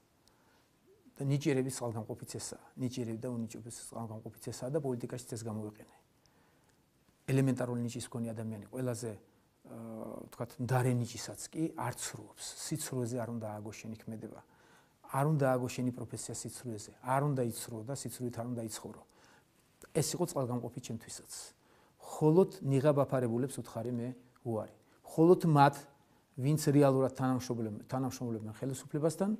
და ნიჭიერების წყალგამყოფიც ესაა. ნიჭიერები და უნიჭების წყალგამყოფიც ესაა და პოლიტიკაშიც ეს გამოვიყენე. ელემენტარული ნიჭის მქონე ადამიანი ყველაზე ვთქვათ, მდარე ნიჭისაც კი არ ცრუობს. სიცრუეზე არ უნდა ააგოშენი ქმედება. არ უნდა ააგოშენი პროფესია სიცრუეზე. არ უნდა იცრუო და სიცრუით არ უნდა იცხოვრო. ეს იყო წყალგამყოფი ჩემთვისაც. მხოლოდ ნიღაბ-აფარებულებს უთხარი მე უარი. მხოლოდ მათ, ვინც რეალურად თანამშრომლებენ ხელისუფლებასთან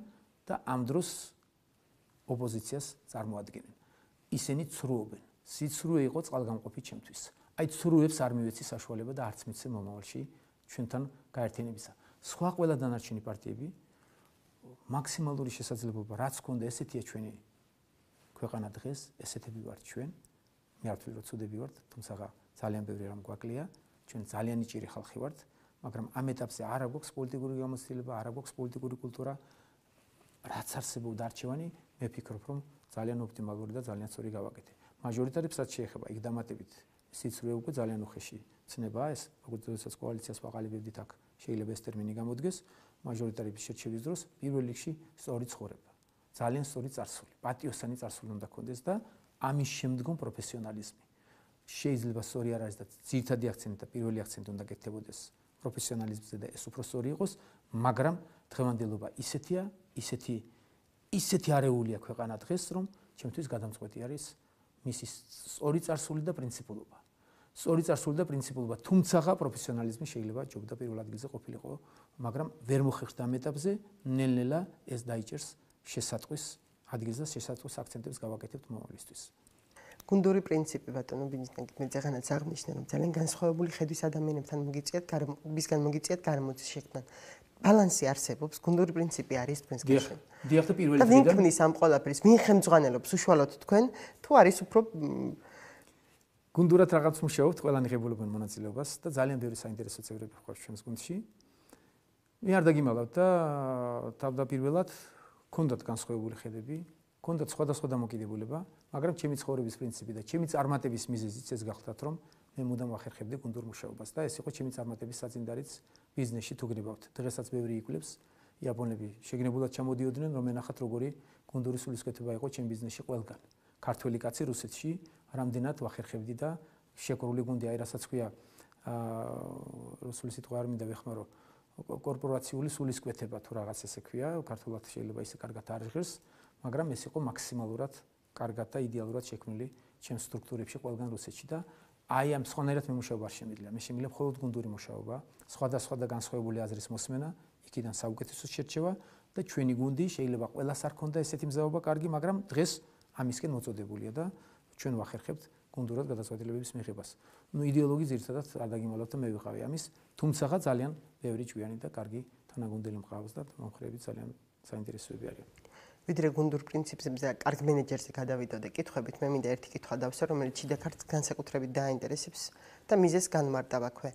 და ამ დროს ოპოზიციას წარმოადგენენ. ისინი ცრუობენ. სიცრუე იყო წყალგამყოფი ჩემთვის. აი ცრუებს არ მივეცი საშუალება და არც მიცე მომავალში ჩვენთან გაერთიანებისა. სხვა ყველა დანარჩენი პარტიები მაქსიმალური შესაძლებლობა რაც ქონდა, ესეთია ჩვენი ქვეყანა დღეს, ესეთები ვართ ჩვენ. მე არ ვთვლი რომ ცუდები ვართ, თუმცა ძალიან ბევრი რამ გვაკლია, ჩვენ ძალიან ნიჭიერი ხალხი ვართ, მაგრამ ამ ეტაპზე არ აქვს პოლიტიკური გამოცდილება, არ აქვს პოლიტიკური კულტურა, რაც არსებობდა არჩევანი, მე ვფიქრობ, რომ ძალიან ოპტიმალური და ძალიან სწორი გავაკეთე. მაჟორიტარებს რაც შეეხება, იქ დამატებით სიცრუე უკვე ძალიან უხეში ცნებაა ეს, როგორც კოალიციას ვაყალიბებდით აქ, შეიძლება ეს ტერმინი გამოდგეს, მაჟორიტარების შერჩევის დროს პირველ რიგში სწორი ცხოვრება. ძალიან სწორი წარსული, პატიოსანი წარსული უნდა გქონდეს და ამის შემდგომ პროფესიონალიზმი. შეიძლება სწორი არ არის და ძირითადი აქცენტი და პირველი აქცენტი უნდა გეკეთებოდეს პროფესიონალიზმზე და ეს უფრო სწორი იყოს, მაგრამ დღევანდელობა ისეთი არეულია ქვეყანა დღეს, რომ ჩემთვის გადამწყვეტი არის მისი სწორი წარსული და პრინციპულობა. სწორი წარსული და პრინციპულობა, თუმცა პროფესიონალიზმი შეიძლება ჯობდა პირველ ადგილზე ყოფილიყო, მაგრამ ვერ მოხერხდა ამ ეტაპზე, ნელ-ნელა ეს დაიჭერს შესატყვის ადგილს და შესატყვის აქცენტებს გავაკეთებთ მომავლისთვის. გუნდური პრინციპი ბატონო ბიძინაკი მე ზეღანაც აღნიშნე რომ ძალიან განსხვავებული ხედვის ადამიანებთან მოგიწიათ გარემოწის შექმნან ბალანსი არსებობს გუნდური პრინციპი არის თქვენს გაშენ დიახ და პირველი და ვინ ქმნის ამ ყველაფრის ვინ ხელმძღვანელობს უშუალოდ თქვენ თუ არის უფრო გუნდურად რაღაც მუშაობთ ყველანი ღებულებენ მონაწილეობას და ძალიან ბევრი საინტერესო წევრები გვყავს ჩვენს გუნდში მე არ დაგიმალავთ და თავდაპირველად გქონდათ განსხვავებული ხედები გქონდათ სხვადასხვა დამოკიდებულება მაგრამ ჩემი ცხოვრების პრინციპი და ჩემი წარმატების მიზეზიც ეს გახლდათ რომ მე მუდამ ვახერხებდი გუნდურ მუშაობას და ეს იყო ჩემი წარმატების საძინდარიც ბიზნესში თუ გნებავთ დღესაც ბევრი იკვლევს იაპონები შეგნებულად ჩამოდიოდნენ რომ ენახათ როგორი გუნდური სულისკვეთება იყო ჩემ ბიზნესში ყველგან ქართველი კაცი რუსეთში რამდენად ვახერხებდი და შეკრული გუნდი აი რასაც ქვია რუსული სიტყვა არ მინდა ვეხმარო კორპორაციული სულისკვეთება თუ რაღაც ესე ქვია ქართულად შეიძლება ისე კარგად არ ჟღერს მაგრამ ეს იყო მაქსიმალურად კარგად და იდეალურად შექმნილი ჩემ სტრუქტურებში ყველგან რუსეთში და აი ამ სხვანაირად მემუშაობა არ შემიძლია მე შემიძლია მხოლოდ გუნდური მუშაობა სხვადასხვა და განსხვავებული აზრის მოსმენა იქიდან საუკეთესო შერჩევა და ჩვენი გუნდი შეიძლება ყველას არ ქონდა ესეთი მზაობა კარგი მაგრამ დღეს ამისკენ მოწოდებულია და ჩვენ ვახერხებთ გუნდურად გადაწყვეტილებების მიღებას. ნუ იდეოლოგი ძირითადად არ დაგიმალავთ და მე ვიყავი ამის, თუმცა ძალიან ბევრი ჭვიანი და კარგი თანაგუნდელი მყავს და მომხრეები ძალიან საინტერესოები არიან. ვიდრე გუნდურ პრინციპებზე და კარგ მენეჯერზე გადავიდოდე კითხვებით, მე მინდა ერთი კითხვა დავსვა, რომელიც შიდა ქართლს განსაკუთრებით დააინტერესებს და მიზეს განმარტავ აქვე.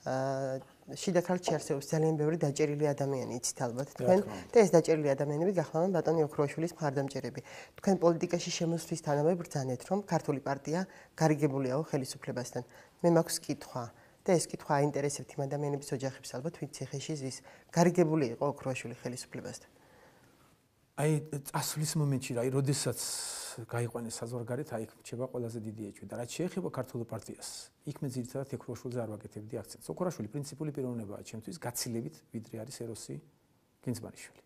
შიდა ქართლში არსებობს ძალიან ბევრი დაჭერილი ადამიანი, იცით ალბათ თქვენ და ეს დაჭერილი ადამიანები გახლავენ ბატონი ოქროაშვილის მხარდამჭერები. თქვენ პოლიტიკაში შემოსვლისთანავე ბრძანეთ, რომ ქართული პარტია გარიგებულიაო ხელისუფლებასთან. მე მაქვს კითხვა და ეს კითხვა აინტერესებთ იმ ადამიანების ოჯახებს ალბათ, ვინც ციხეში ზის. გარიგებული იყო ოქროაშვილი ხელისუფლებასთან. აი წასვლის მომენტში რა, როდესაც გაიყვანეს საზღვარგარეთ, აი რჩება ყველაზე დიდი ეჭვი და რაც შეეხება ქართულ პარტიას, იქ მე ძირითადად ოქროაშვილზე არ ვაკეთებდი აქცენტს. ოქროაშვილი პრინციპული პიროვნებაა ჩემთვის გაცილებით, ვიდრე არის ეროსი გინძბარიშვილი.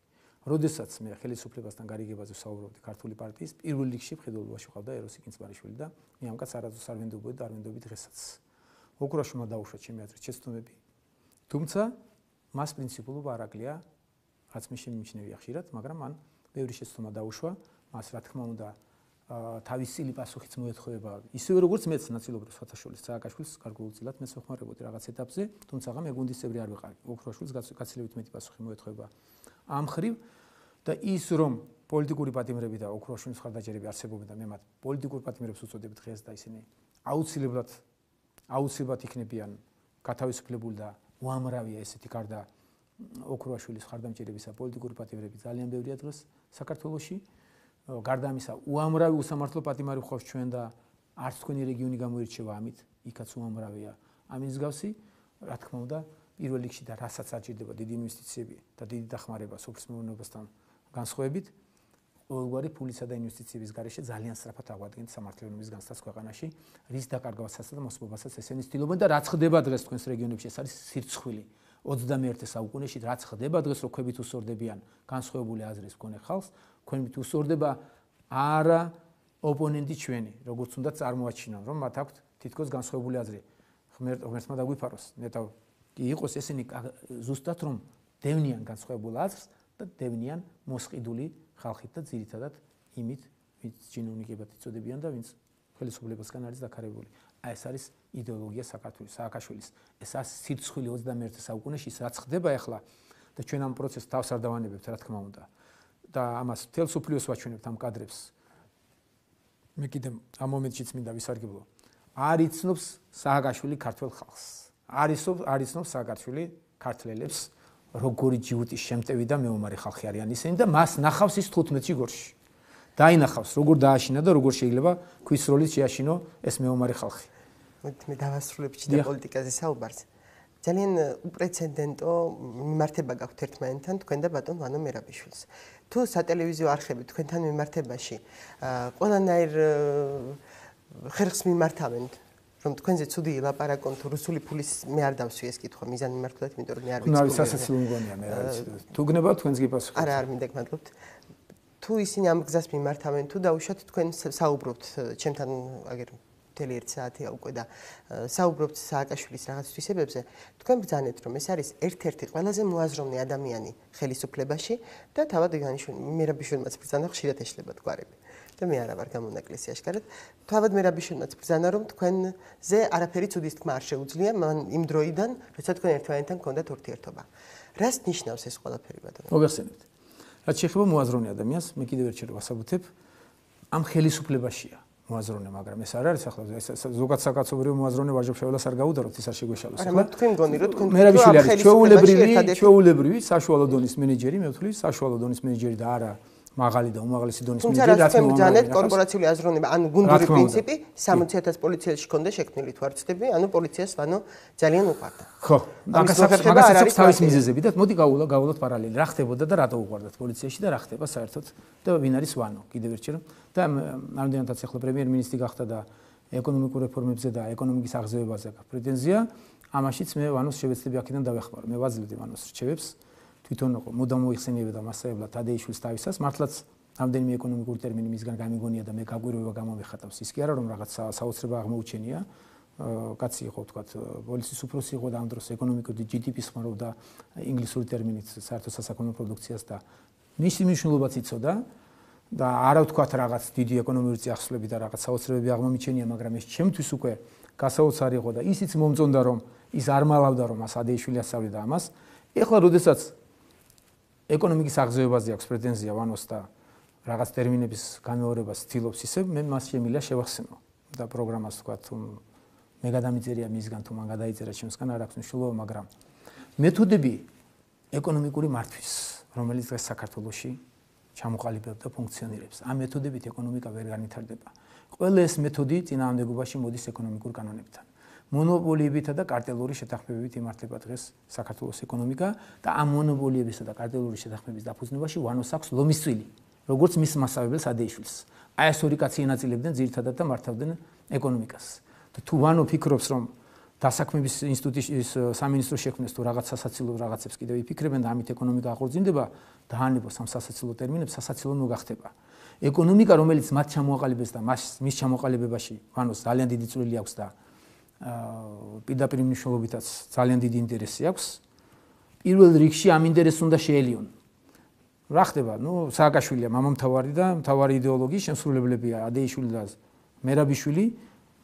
როდესაც მე ხელისუფლებასთან გარიგებაზე ვსაუბრობდი ქართული პარტიის, პირველ რიგში მხედველობაში ვყავდა ეროსი გინძბარიშვილი და მე ამ კაცს არასდროს არ ვენდობოდი და არ ვენდობი დღესაც. ოქროაშვილმა დაუშვა ჩემი აზრით შეცდომები. თუმცა მას პრინციპულობა არ აკლია, რაც მე შემიმჩნევია ხშირად, მაგრამ მან ბევრი შეცდომა დაუშვა, მას რა თქმა უნდა თავის წილი პასუხიც მოეთხოვება. ისევე როგორც მეც ნაწილობრივ სათაშოლის სააკაშვილს გარკვეულწილად მეც ვეხმარებოდი რაღაც ეტაპზე, თუმცა მე გუნდის წევრი არ ვიყავი. ოქროაშვილს გაცილებით მეტი პასუხი მოეთხოვება ამ მხრივ და ის რომ პოლიტიკური პატიმრები და ოქროაშვილის მხარდაჭერები არსებობენ და მე მათ პოლიტიკურ პატიმრებს უწოდებ დღეს და ისინი აუცილებლად იქნებიან გათავისუფლებული და უამრავია ესეთი გარდა ოქროაშვილის მხარდამჭერებისა პოლიტიკური პატიმრები ძალიან ბევრია დღეს საქართველოში. გარდა ამისა, უამრავი უსამართლო პატიმარი ვხავს ჩვენ და არც თქვენი რეგიონი გამოირჩევა ამით, იქაც უამრავია. ამის მსგავსი, რა თქმა უნდა, პირველ რიგში და რასაც აჭირდება დიდი ინვესტიციები და დიდი დახმარება სოფლის მეურნეობასთან განსხვავებით, ყოველგვარი ფულისა და ინვესტიციების გარეშე ძალიან სწრაფად აღვადგენთ სამართლებრივობის განცდას ქვეყანაში, რის დაკარგვასაც და მოსპობასაც ესენი ცდილობენ და რაც ხდება დღეს თქვენს რეგიონებში, ეს არის სირცხვილი. 21 საუკუნეში რაც ხდება დღეს რო ქვებით უსორდებიან განსხვავებული აზრის მქონე ხალხს, ქვებით უსორდება არა ოპონენტი ჩვენი, როგორც უნდა წარმოაჩინონ, რომ მათ აქვთ თითქოს განსხვავებული აზრი. ღმერთმა დაგვიფაროს, ნეტავ იყოს ესენი ზუსტად რომ დევნიან განსხვავებულ აზრს და დევნიან მოსყიდული ხალხით და ძირითადად იმით, ვინც ჩინოვნიკებად იწოდებიან და ვინც ხელისუფლებასგან არის დაქარებული. ეს არის იდეოლოგია სააკაშვილის. ეს არის სირცხვილი 21 საუკუნეში, რაც ხდება ახლა და ჩვენ ამ პროცესს თავს არ დავანებებთ, რა თქმა უნდა. და ამას მთელ სოფლიოს ვაჩვენებთ ამ კადრებს. მე კიდე ამ მომენტშიც მინდა ვისარგებლო. არ იცნობს სააკაშვილი ქართველ ხალხს. არ იცნობს სააკაშვილი ქართველებს, როგორი ჯიუტის შემტევი და მეომარი ხალხი არიან ისინი და მას ნახავს ის 15-ში გორში. დაინახავს, როგორ დააშინა და როგორ შეიძლება ქვისროლით შეაშინო ეს მეომარი ხალხი. მე დავასრულებ ჩიდა პოლიტიკაზე საუბარს. ძალიან უპრეცედენტო მიმართება გაქვთ ერთმანეთთან თქვენ და ბატონ ვანო მერაბიშვილს. თუ სატელევიზიო არხები თქვენთან მიმართებაში ყველანაირ ხერხს მიმართავენ, რომ თქვენზე ცუდი ილაპარაკონ თუ რუსული ფულის მე არ დავსვი ეს კითხვა მიზან მიმართულად, იმიტომ რომ მე არ ვიცი. ნავის სასაცილო მგონია მე რა ვიცი. თუ გნებავთ თქვენს გიპასუხებთ. არა, არ მინდა გმადლობთ. თუ ისინი ამ გზას მიმართავენ, თუ დაუშვათ თქვენ საუბრობთ ჩემთან აგერ მთელი 1 საათია უკვე და საუბრობთ სააკაშვილის რაღაც თვისებებზე, თქვენ ბრძანეთ რომ ეს არის ერთ-ერთი ყველაზე მოაზროვნე ადამიანი ხელისუფლებაში და თავად იგანიშვილი მერაბიშვილმაც ბრძანა ხშირად ეშლება გვარები. და მე არა ვარ გამონაკლისი აშკარად. თავად მე რაბიშუნაც ბრძანა რომ თქვენზე არაფერი ცუდის თქმა არ შეუძლია მან იმ დროიდან, როცა თქვენ ერთმანეთთან გქონდათ ურთიერთობა. რას ნიშნავს ეს ყველაფერი ბატონო? მოგეხსენებთ. რაც შეეხება მოაზროვნე ადამიანს, მე კიდევ ერთხელ ვასაბუთებ, ამ ხელისუფლებაშია მოაზროვნე, მაგრამ ეს არ არის ახლა ზოგადად საკაცობრიო მოაზროვნე ვაჟობშეველას არ გაუდაროთ, ის არ შეგვეშალოს. არა, თქვენ გონი რომ თქვენ მერაბიშვილი არის ჩვეულებრივი საშუალო დონის მენეჯერი, მე ვთვლი საშუალო დონის მენეჯერი და არა მაღალი და უმაღლესი დონის მენეჯერი, რაც მომძანეთ კორპორაციული აზროვნება, ანუ გუნდური პრინციპი 60,000 პოლიციელში ქონდა შექმნილი თუ არ ვცდები, ანუ პოლიციას ვანო ძალიან უყვარდა. ხო, მაგას აქვს თავის მიზეზები და მოდი გავულოთ პარალელი. რა ხდებოდა და რატო უყვარდათ პოლიციაში და რა ხდება საერთოდ და ვინ არის ვანო? კიდევ ერთხელ რომ და ამდენადაც ახლა პრემიერ-მინისტრი გახდა და ეკონომიკურ რეფორმებზე და ეკონომიკის აღზევებაზე აქვს პრეტენზია, ამაშიც მე ვანოს შევეცდები აქედან დავეხმარო. მე ვაძლევდი ვანოს რჩევებს. თვითონ მოდამ მოიხსენიებდა მასწავლებლად თადეიშვილის თავისას, მართლაც ამდენიმე ეკონომიკური ტერმინი მისგან გამიგონია და მე გაგვირვება გამომიხატავს. ის კი არა რომ რაღაც საოცრება აღმოუჩენია. კაცი იყო თქვათ, პოლიციის უფროსი იყო და ამ დროს ეკონომიკური GDP-ს ხმარობდა ინგლისური ტერმინით საერთო სასაქონლო პროდუქციას და მისი მნიშვნელობაც იცოდა და არა ვთქვათ რაღაც დიდი ეკონომიკური წიაღსვლები და რაღაც საოცრებები აღმომიჩენია, მაგრამ ეს ჩემთვის უკვე გასაოცარი იყო და ისიც მომწონდა რომ ის არ მალავდა რომ მას ადეიშვილი ასწავლიდა ამას. ეხლა როდესაც ეკონომიკის აღზევებაზე აქვს პრეტენზია ვანოს და რაღაც ტერმინების განმეორებას ცდილობს ისე მე მას შემიძლია შევახსენო და პროგრამას თქვა თუ მე გადამიწერია მისგან თუ მან გადაიწერა ჩემსგან არ აქვს მნიშვნელობა, მაგრამ მეთოდები ეკონომიკური მართვის, რომელიც დღეს საქართველოში ჩამოყალიბებდა და ფუნქციონირებს. ამ მეთოდებით ეკონომიკა ვერ განვითარდება. ყველა ეს მეთოდი წინააღმდეგობაში მოდის ეკონომიკურ კანონებთან. მონოპოლიებითა და კარტელური შეთანხმებებით იმართება დღეს საქართველოს ეკონომიკა და ამ მონოპოლიებისა და კარტელური შეთანხმების დაფუძნებაში ვანოს აქვს ლომის წვილი, როგორც მის მასწავლებელს ადეიშვილს. აი ეს ორი კაცი ენაწილებდნენ ძირითადად და მართავდნენ ეკონომიკას. და თუ ვანო ფიქრობს რომ დასაქმების ინსტიტუტის სამინისტრო შექმნეს თუ რაღაც სასაცილო რაღაცებს კიდევ იფიქრებენ და ამით ეკონომიკა აღორძინდება, დაანებოს ამ სასაცილო ტერმინებს სასაცილო მოგახდება. ეკონომიკა რომელიც მათ ჩამოაყალიბეს და მის ჩამოყალიბებაში ვანოს ძალიან დიდი წვლილი აქვს და პირდაპირ მნიშვნელობითაც ძალიან დიდი ინტერესი აქვს. პირველ რიგში ამ ინტერესს უნდა შეელიონ. რა ხდება? ნუ სააკაშვილია მამამთავარი და მთავარი იდეოლოგიის შემსრულებლებია ადეიშვილი და მერაბიშვილი.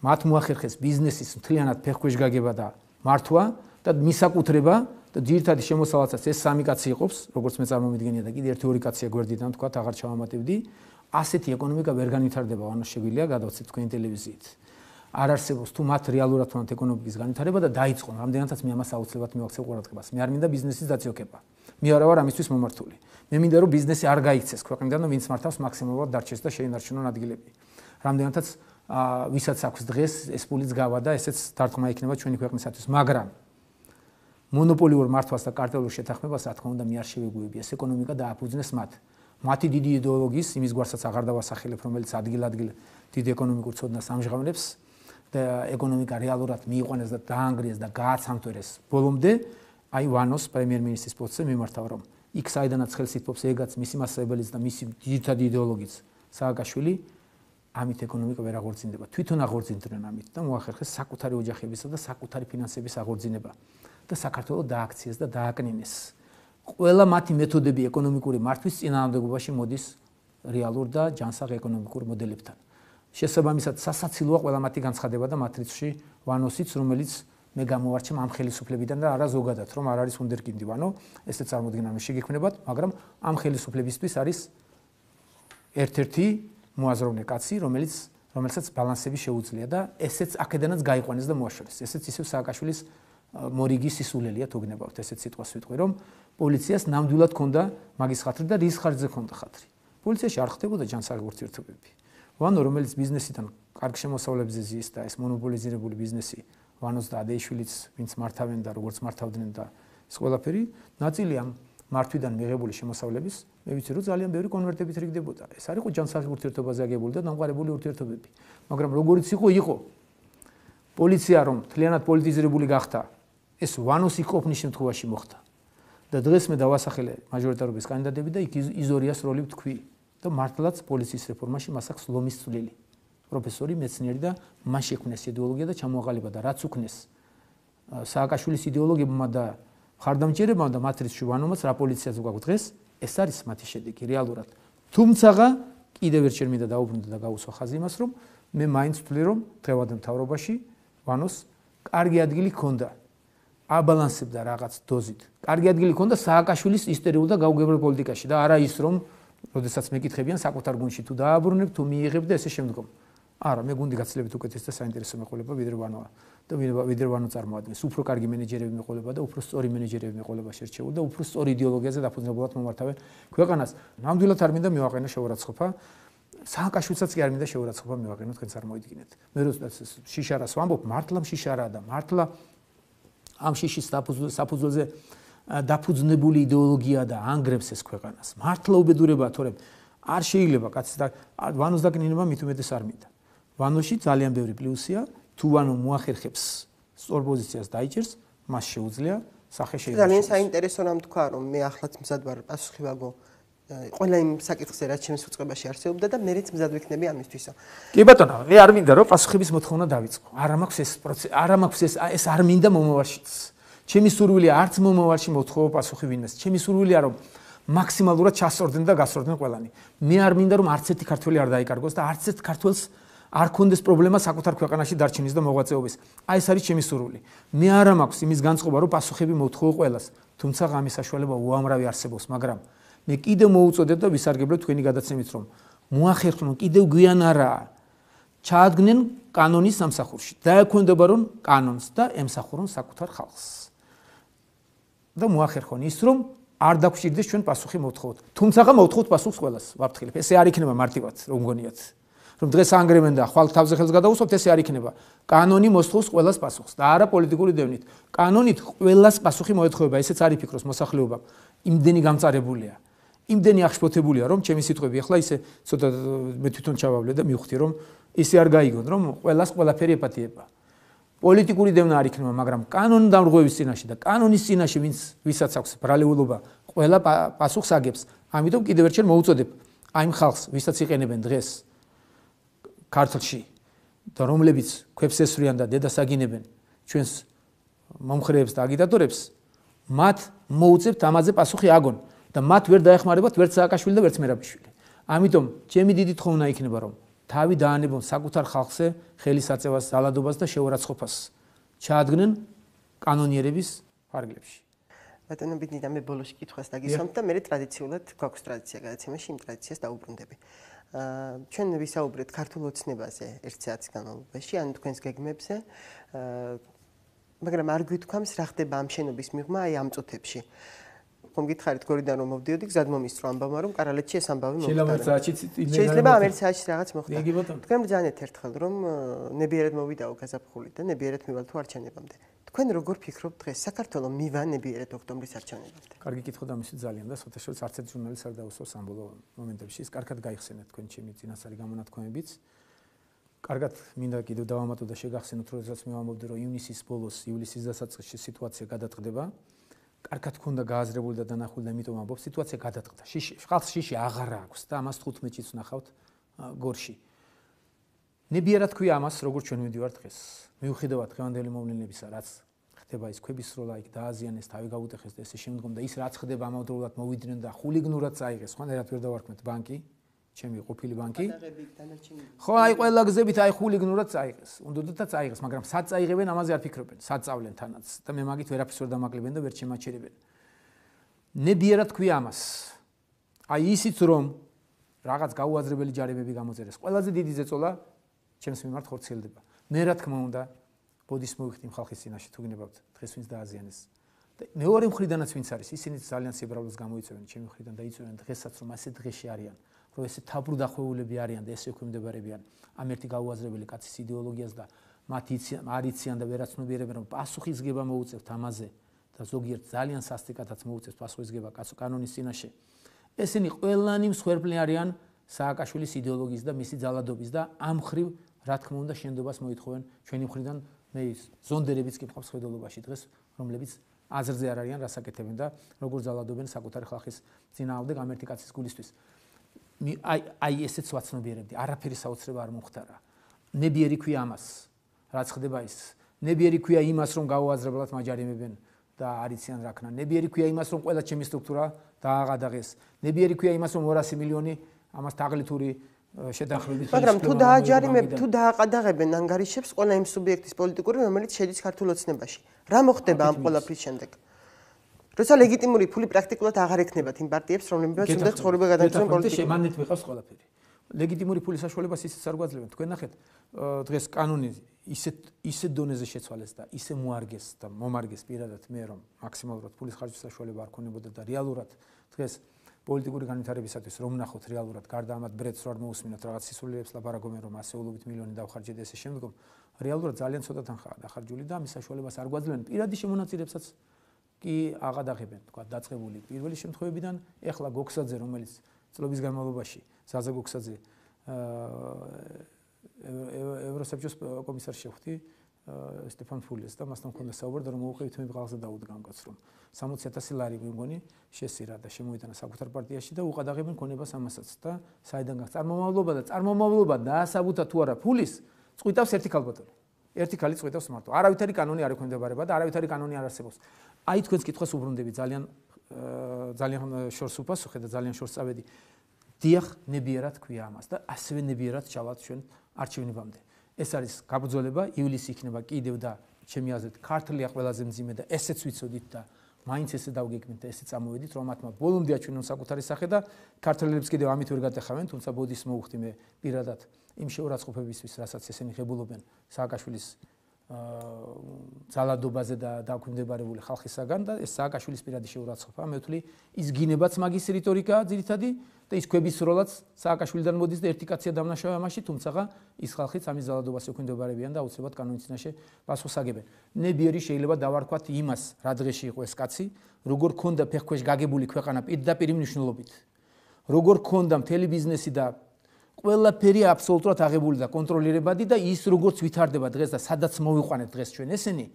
მათ მოახერხეს ბიზნესის მთლიანად ფეხქვეშ გაგება და მართვა და მისაკუთრება და ძირითადი შემოსავალსაც ეს სამი კაცი იყოფს, როგორც მე წარმომიდგენია და კიდე ერთი ორი კაცია გვერდიდან თქვა, აღარ ჩავამატებდი. ასეთი ეკონომიკა ვერ განვითარდება, ანუ შეგვიძლია გადავცეთ თქვენ ტელევიზიით. არ არსებობს თუ მათ რეალურად ვთქვათ ეკონომიკის განვითარება და დაიწყონ. რამდენადაც მე ამას აუცილებლად მივაქცევ ყურადღებას. მე არ მინდა ბიზნესის დაწიოქება. მე არა ვარ ამისთვის მომართული. მე მინდა რომ ბიზნესი არ გაიქცეს ქვეყნიდან და ვინც მართავს მაქსიმალურად დარჩეს და შეინარჩუნონ ადგილები. რამდენადაც ვისაც აქვს დღეს ეს პულიც გავა და ესეც დარტყმა იქნება ჩვენი ქვეყნისათვის, მაგრამ მონოპოლიურ მართვას და კარტელურ შეთანხმებას რა თქმა უნდა მე არ შევეგუები. ეს ეკონომიკა დააფუძნეს მათ. მათი დიდი იდეოლოგიის იმის გვარსაც აღარ დავასახელებ, რომელიც ადგილ-ადგილ დიდ ეკონომიკურ ცოდნას ამჟღავნებს და ეკონომიკა რეალურად მიიყვანეს და დაანგრიეს და გააცამთვერეს ბოლომდე, აი ვანოს პრემიერ-მინისტრის პოსტზე მიმართავ რომ იქ საიდანაც ხელს ითმობს ეგაც მისი მასწავლებელიც და მისი ძირითადი იდეოლოგიც სააკაშვილი ამით ეკონომიკა ვერ აღორძინდება. თვითონ აღორძინდნენ ამით და მოახერხეს საკუთარი ოჯახებისა და საკუთარი ფინანსების აღორძინება და საქართველოს დააქციეს და დააკნინეს. ყველა მათი მეთოდები ეკონომიკური მართვის წინააღმდეგობაში მოდის რეალურ და ჯანსაღ ეკონომიკურ მოდელებთან. შესაბამისად სასაცილოა ყველა მათი განცხადება და მათ რიცხვში ვანოსიც, რომელიც მე გამოვარჩევ ამ ხელისუფლებიდან და არა ზოგადად, რომ არ არის უნდერკინდი ვანო, ესეც წარმოდგენა მე შეგექმნებათ, მაგრამ ამ ხელისუფლებისთვის არის ერთ-ერთი მოაზროვნე კაცი, რომელსაც ბალანსები შეუძლია და ესეც აქედანაც გაიყვანეს და მოაშორეს. ესეც ისევ სააკაშვილის მორიგის სისულელია თუ გნებავთ, ესეც სიტყვას ვიტყვი, რომ პოლიციას ნამდვილად ჰქონდა მაგის ხათრი და რის ხარჯზე ჰქონდა ხათრი. პოლიციაში არ ხდებოდა ჯანსაღი ურთიერთობები. ვანო, რომელიც ბიზნესიდან კარგ შემოსავლებზე ზის და ეს მონოპოლიზირებული ბიზნესი ვანოს და ადეიშვილიც, ვინც მართავენ და როგორც მართავდნენ და ეს ყველაფერი, ნაწილი ამ მართვიდან მიღებული შემოსავლების, მე ვიცი რომ ძალიან ბევრი კონვერტებით რიგდებოდა. ეს არ იყო ჯანსაღი ურთიერთობაზე აგებული და დამყარებული ურთიერთობები. მაგრამ როგორიც იყო პოლიცია რომ მთლიანად პოლიტიზირებული გახდა, ეს ვანოს იყოფნის შემთხვევაში მოხდა. და დღეს მე დავასახელე მაჟორიტარობის კანდიდატები და იქ იზორიას როლი ვთქვი და მართლაც პოლიციის რეფორმაში მას აქვს ლომის წვლილი. პროფესორი, მეცნიერი და მან შექმნეს იდეოლოგია და ჩამოაყალიბა და რაც უქნეს სააკაშვილის იდეოლოგებმა და ხარდამჭერებმა და მათ რიცხვში ვანომაც რა პოლიციაზე გვაქვს დღეს, ეს არის მათი შედეგი რეალურად. თუმცა კიდევ ერთხელ მინდა დაუბრუნდე და გავუსვა ხაზი იმას, რომ მე მაინც ვთვლი, რომ დღევანდელ მთავრობაში ვანოს კარგი ადგილი ჰქონდა. აბალანსებდა რაღაც დოზით. კარგი ადგილი ჰქონდა სააკაშვილის ისტორიულ და გაუგებრებულ პოლიტიკაში და არა ის, რომ როდესაც მეკითხებიან საკუთარ გუნდში თუ დააბრუნებ, თუ მიიღებ და ესე შემდგომ. არა, მე გუნდი გაცილებით უკეთეს და საინტერესო მეყოლება ვიდრე ვანოა და ვიდრე ვანო წარმოადგენს. უფრო კარგი მენეჯერები მეყოლება და უფრო სწორი მენეჯერები მეყოლება შერჩეული და უფრო სწორი იდეოლოგიაზე დაფუძნებულად მომართავენ ქვეყანას. ნამდვილად არ მინდა მივაყენო შეურაცხყოფა. სააკაშვილსაც კი არ მინდა შეურაცხყოფა მივაყენო, თქვენ წარმოიდგინეთ. მე როდესაც შიშარას ვამბობ, მართლა შიშარაა და მართლა ამ შიშის საფუძველზე დაფუძნებული იდეოლოგია და ანგრევს ეს ქვეყანას. მართლა უბედურებაა, თორემ არ შეიძლება კაცს და ვანოს დაკნინება მით უმეტეს არ მინდა. ვანოში ძალიან ბევრი პლუსია, თუ ვანო მოახერხებს სწორ პოზიციას დაიჭერს, მას შეუძლია სახე შეიძლება. ძალიან საინტერესო რამ თქვა, რომ მე ახლაც მზად ვარ პასუხი ვაგო ყველა იმ საკითხზე, რაც ჩემს უწყებაში არსებობდა და მეც მზად ვიქნები ამისთვისო. კი ბატონო, მე არ მინდა რომ პასუხების მოთხოვნა დავიწყო. არ მაქვს ეს პროცესი, არ მაქვს ეს არ მინდა მომავალშიც. ჩემი სურვილია არც მომავალში მოთხოვო პასუხი ვინმეს. ჩემი სურვილია რომ მაქსიმალურად ჩასწორდნენ და გასწორდნენ ყველანი. მე არ მინდა რომ არც ერთი ქართველი არ დაიკარგოს და არც ერთ ქართველს არ კონდეს პრობლემა საკუთარ ქვეყანაში დარჩენის და მოღვაწეობის. აი ეს არის ჩემი სურვილი. მე არა მაქვს იმის განწყობა რომ პასუხები მოთხოვო ყველას, თუმცა ამის საშუალება უამრავი არსებობს, მაგრამ მე კიდევ მოუწოდებ და ვისარგებლებ თქვენი გადაცემით, რომ მოახერხონ კიდევ გვიან არაა. ჩაადგნენ კანონის სამსახურში. დაექვემდებარონ რომ კანონს და ემსახურონ საკუთარ ხალხს. და მოახერხონ ის, რომ არ დაგვჭირდეს ჩვენ პასუხი მოვთხოვოთ. თუმცა მოვთხოვოთ პასუხს ყველას, ვაფრთხილებ. ესე არ იქნება მარტივად, რომ გონიათ. რომ დღეს ანგრევენ და ხვალ თავზე ხელს გადაუსვამთ, ესე არ იქნება. კანონი მოსთხოვს ყველას პასუხს და არა პოლიტიკური დევნით. კანონით ყველას პასუხი მოეთხოვება, ესეც არის ფიქროს მოსახლეობა. იმდენი გამწარებულია. იმდენი აღშფოთებულია, რომ ჩემი სიტყვები ახლა ისე ცოტა მე თვითონ ჩავავლე და მივხვდი, რომ ისე არ გაიგონ, რომ ყველას ყველაფერი ეპათიება. პოლიტიკური დევნა არ იქნება, მაგრამ კანონდამრღვევის წინაშე და კანონის წინაშე ვისაც აქვს ბრალეულობა, ყველა პასუხს აგებს. ამიტომ კიდევ ერთხელ მოუწოდებ აი იმ ხალხს, ვისაც იყენებენ დღეს ქართლში და რომლებიც ქვებს ესვრიან და დედას აგინებენ ჩვენს მომხრეებს და აგიტატორებს, მათ მოუწევთ ამაზე პასუხი აგონ და მათ ვერ დაეხმარებათ ვერც სააკაშვილი და ვერც მერაბიშვილი. ამიტომ ჩემი დიდი თხოვნა იქნება, რომ თავი დაანებონ საკუთარ ხალხზე ხელისაწევას, ძალადობას და შეურაცხყოფას. ჩაადგნენ კანონიერების ფარგლებში. ბატონო ბიძინა მე ბოლოში კითხვას დაგისვამთ და მე ტრადიციულად გვაქვს ტრადიცია გადაცემაში იმ ტრადიციას დაუბრუნდები. ჩვენ ვისაუბრეთ ქართულ ოცნებაზე ერთ საათის განმავლობაში, ან თქვენს გეგმებზე, მაგრამ არ გვითქვამს რა ხდება ამ შენობის მიღმა აი ამ წუთებში. ხომ გითხარით გორიდან რომ მოვდიოდი, გზად მომისწრო ამბავმა რომ კარალეთში ეს ამბავი მომხდარა. შეიძლება ამ ერთ საათში რაღაც მოხდა. თქვენ ბრძანეთ ერთხელ რომ ნებიერად მოვიდაო გაზაფხული და ნებიერად მივალ თუ არჩევნებამდე. თქვენ როგორ ფიქრობთ დღეს საქართველოს მივა ნებიერად ოქტომბრის არჩევნებამდე? კარგი კითხვა და მისი ძალიან და სოთაშორის არც ერთ ჟურნალისტს არ დაუსვავს ამ ბოლო მომენტებში. ის კარგად გაიხსენეთ თქვენ ჩემი წინასწარი გამონათქვამებიც. კარგად მინდა კიდევ დავამატო და შეგახსენოთ, როდესაც მე ვამბობდი რომ ივნისის ბოლოს, ივლისის დასაწყისში სიტუაცია გადაწყდება. კარგად ქონდა გააზრებული და დანახული და იმიტომ ამბობ, სიტუაცია გადაწყდა. ხალხს შიში აღარ აქვს და ამას 15-ში ვნახავთ გორში. ნებიერად თქვია ამას, როგორც ჩვენ მივდივართ დღეს. მიუხედავად დღევანდელი მოვლენებისა, რაც ხდება ის ქვების სროლა იქ დააზიანეს, თავი გაუტეხეს და ესე შემდგომ და ის რაც ხდება ამავდროულად მოვიდნენ და ხულიგნურად წაიღეს, ხანდერად ვერ დავარქმეთ ბანკი, ჩემი ყოფილი ბანკი. ხო, აი ყველა გზებით აი ხულიგნურად წაიღეს. უნდოდა წაიღეს, მაგრამ სად წაიღებენ ამაზე არ ფიქრობენ. სად წავლენ თანაც და მე მაგით ვერაფერს ვერ დამაკლებენ და ვერ შემაჩერებენ. ნებიერად თქვია ამას. აი ისიც რომ რაღაც გაუაზრებელი ჯარებები გამოწერეს. ყველაზე დიდი ზეწოლა ჩემს მიმართ ხორციელდება. მე რა თქმა უნდა ბოდის მოვიხდი ხალხის წინაშე თუ გინებავთ დღეს ვინც დააზიანეს. და მეორე მხრიდანაც ვინც არის, ისინი ძალიან სიბრალოს გამოიწვევენ ჩემი მხრიდან და იწვევენ დღესაც რომ ასე დღეში არიან. რომ ესე თაბრუდახვეულები არიან და ესე ექვემდებარებიან ამ ერთი გაუაზრებელი კაცის იდეოლოგიას და მათ არ იციან და ვერაცნობიერებენ რომ პასუხისგება მოუწევთ ამაზე და ზოგიერთ ძალიან სასტიკათაც მოუწევთ პასუხისგება კანონის წინაშე. ესენი ყველანი მსხვერპლი არიან სააკაშვილის იდეოლოგიის და მისი ძალადობის და ამ ხრივ რა თქმა უნდა შენდობას მოითხოვენ ჩვენი მხრიდან მე ზონდერებიც კი მყავს ხედულობაში დღეს რომლებიც აზრზე არ არიან რასაკეთებენ და როგორ ძალადობენ საკუთარი ხალხის წინააღმდეგ ამ ერთი კაცის გულისთვის. აი ესეც ვაცნობიერებდი, არაფერი საოცრება არ მომხდარა. ნებიერი ქვია ამას, რაც ხდება ის. ნებიერი ქვია იმას, რომ გაუაზრებლად მაჯარიმებენ და არიციან რა ქნა. ნებიერი ქვია იმას, რომ ყველა ჩემი სტრუქტურა დააღადაღეს. ნებიერი ქვია იმას, რომ 200 მილიონი ამას თაღლითური შედახრებით მაგრამ თუ დააყადაღებენ ანგარიშებს ყველა იმ სუბიექტის პოლიტიკური, რომელიც შედის ქართულ ოცნებაში. რა მოხდება ამ ყველაფრის შემდეგ? როცა ლეგიტიმური ფული პრაქტიკულად აღარ ექნებათ იმ პარტიებს, რომლებიც უნდა ცხოვრება გადაგრძელონ პოლიტიკურად. მანეთ ვიყავს ყველაფერი. ლეგიტიმური ფულის საშუალებას ისიც არ გვაძლევენ. თქვენ ნახეთ, დღეს კანონი ისეთ დონეზე შეცვალეს და ისე მოარგეს და მომარგეს პირადად მე რომ მაქსიმალურად ფულის ხარჯის საშუალება არ ქონებოდა და რეალურად დღეს პოლიტიკური განვითარებისათვის რომ ნახოთ რეალურად გარდა ამათ ბრეთს რო არ მოусმინოთ რაღაც სისულელებს ლაპარაკობენ რომ ასეულობით მილიონი დავხარჯეთ ესე შემდგომ რეალურად ძალიან ცოტა თანხაა დახარჯული და ამის საშუალებას არ გვაძლევენ პირადი შემონაწილებსაც კი აღადაღებენ თქვა დაწყებული პირველი შემთხვევებიდან ეხლა გოქსაძე რომელიც წლების განმავლობაში ზაზა გოქსაძე ევროსაბჭოს კომისარს შეხვდი სტეფან ფულეს და მასთან მქონდა საუბარი რომ მოუყევით მე ბღალზე დაუდგან კაც რომ 60,000 ლარი მე მგონი შესირა და შემოიტანა საკუთარ პარტიაში და უყადაღებენ ქონებას ამასაც და საიდან გახ წარმომავლობა დაასაბუთა თუ არა ფულის წყვიტავს ერთი ქალბატონი ერთი ქალი წყვიტავს მარტო არავითარი კანონი არ ექვემდებარება და არავითარი კანონი არ არსებობს აი თქვენს კითხვას უბრუნდები ძალიან შორს უპასუხე და ძალიან შორს წავედი დიახ ნებიერად ქვია ამას და ასევე ნებიერად ჩავალთ ჩვენ არჩევნებამდე ეს არის გაბრძოლება ივლისი იქნება კიდევ და ჩემი აზრით ქართლია ყველაზე მძიმე და ესეც ვიცოდით და მაინც ესე დავგეგმეთ და ესე წამოვედით რომ მათმა ბოლომდე აჩვენონ საკუთარი სახე და ქართველებს კიდევ ამით ვერ გადახავენ თუმცა ბოდის მოუხდი მე პირადად იმ შეურაცხყოფებისთვის რასაც ესენი ღებულობენ სააკაშვილის ძალადობაზე და დაქვემდებარებული ხალხისაგან და ეს სააკაშვილის პირადი შეურაცხყოფა მე ვთვლი ის გინებაც მაგის რიტორიკაა ძირითადი და ის ქვების როლაც სააკაშვილიდან მოდის და ერთი კაცია დამნაშავე ამაში თუმცა ის ხალხიც ამის ძალადობას ექვემდებარებიან და აუცილებლად კანონის წინაშე პასუხს აგებენ ნებიერი შეიძლება დავარქვათ იმას რა დღეში იყო ეს კაცი როგორ ქონდა ფეხქვეშ გაგებული ქვეყანა პირდაპირ მნიშვნელობით როგორ ქონდა მთელი ბიზნესი და ყველაფერი აბსოლუტურად აღებული და კონტროლირებადი და ის როგორც ვითარდება დღეს და სადაც მოვიყვანეთ დღეს ჩვენ ესენი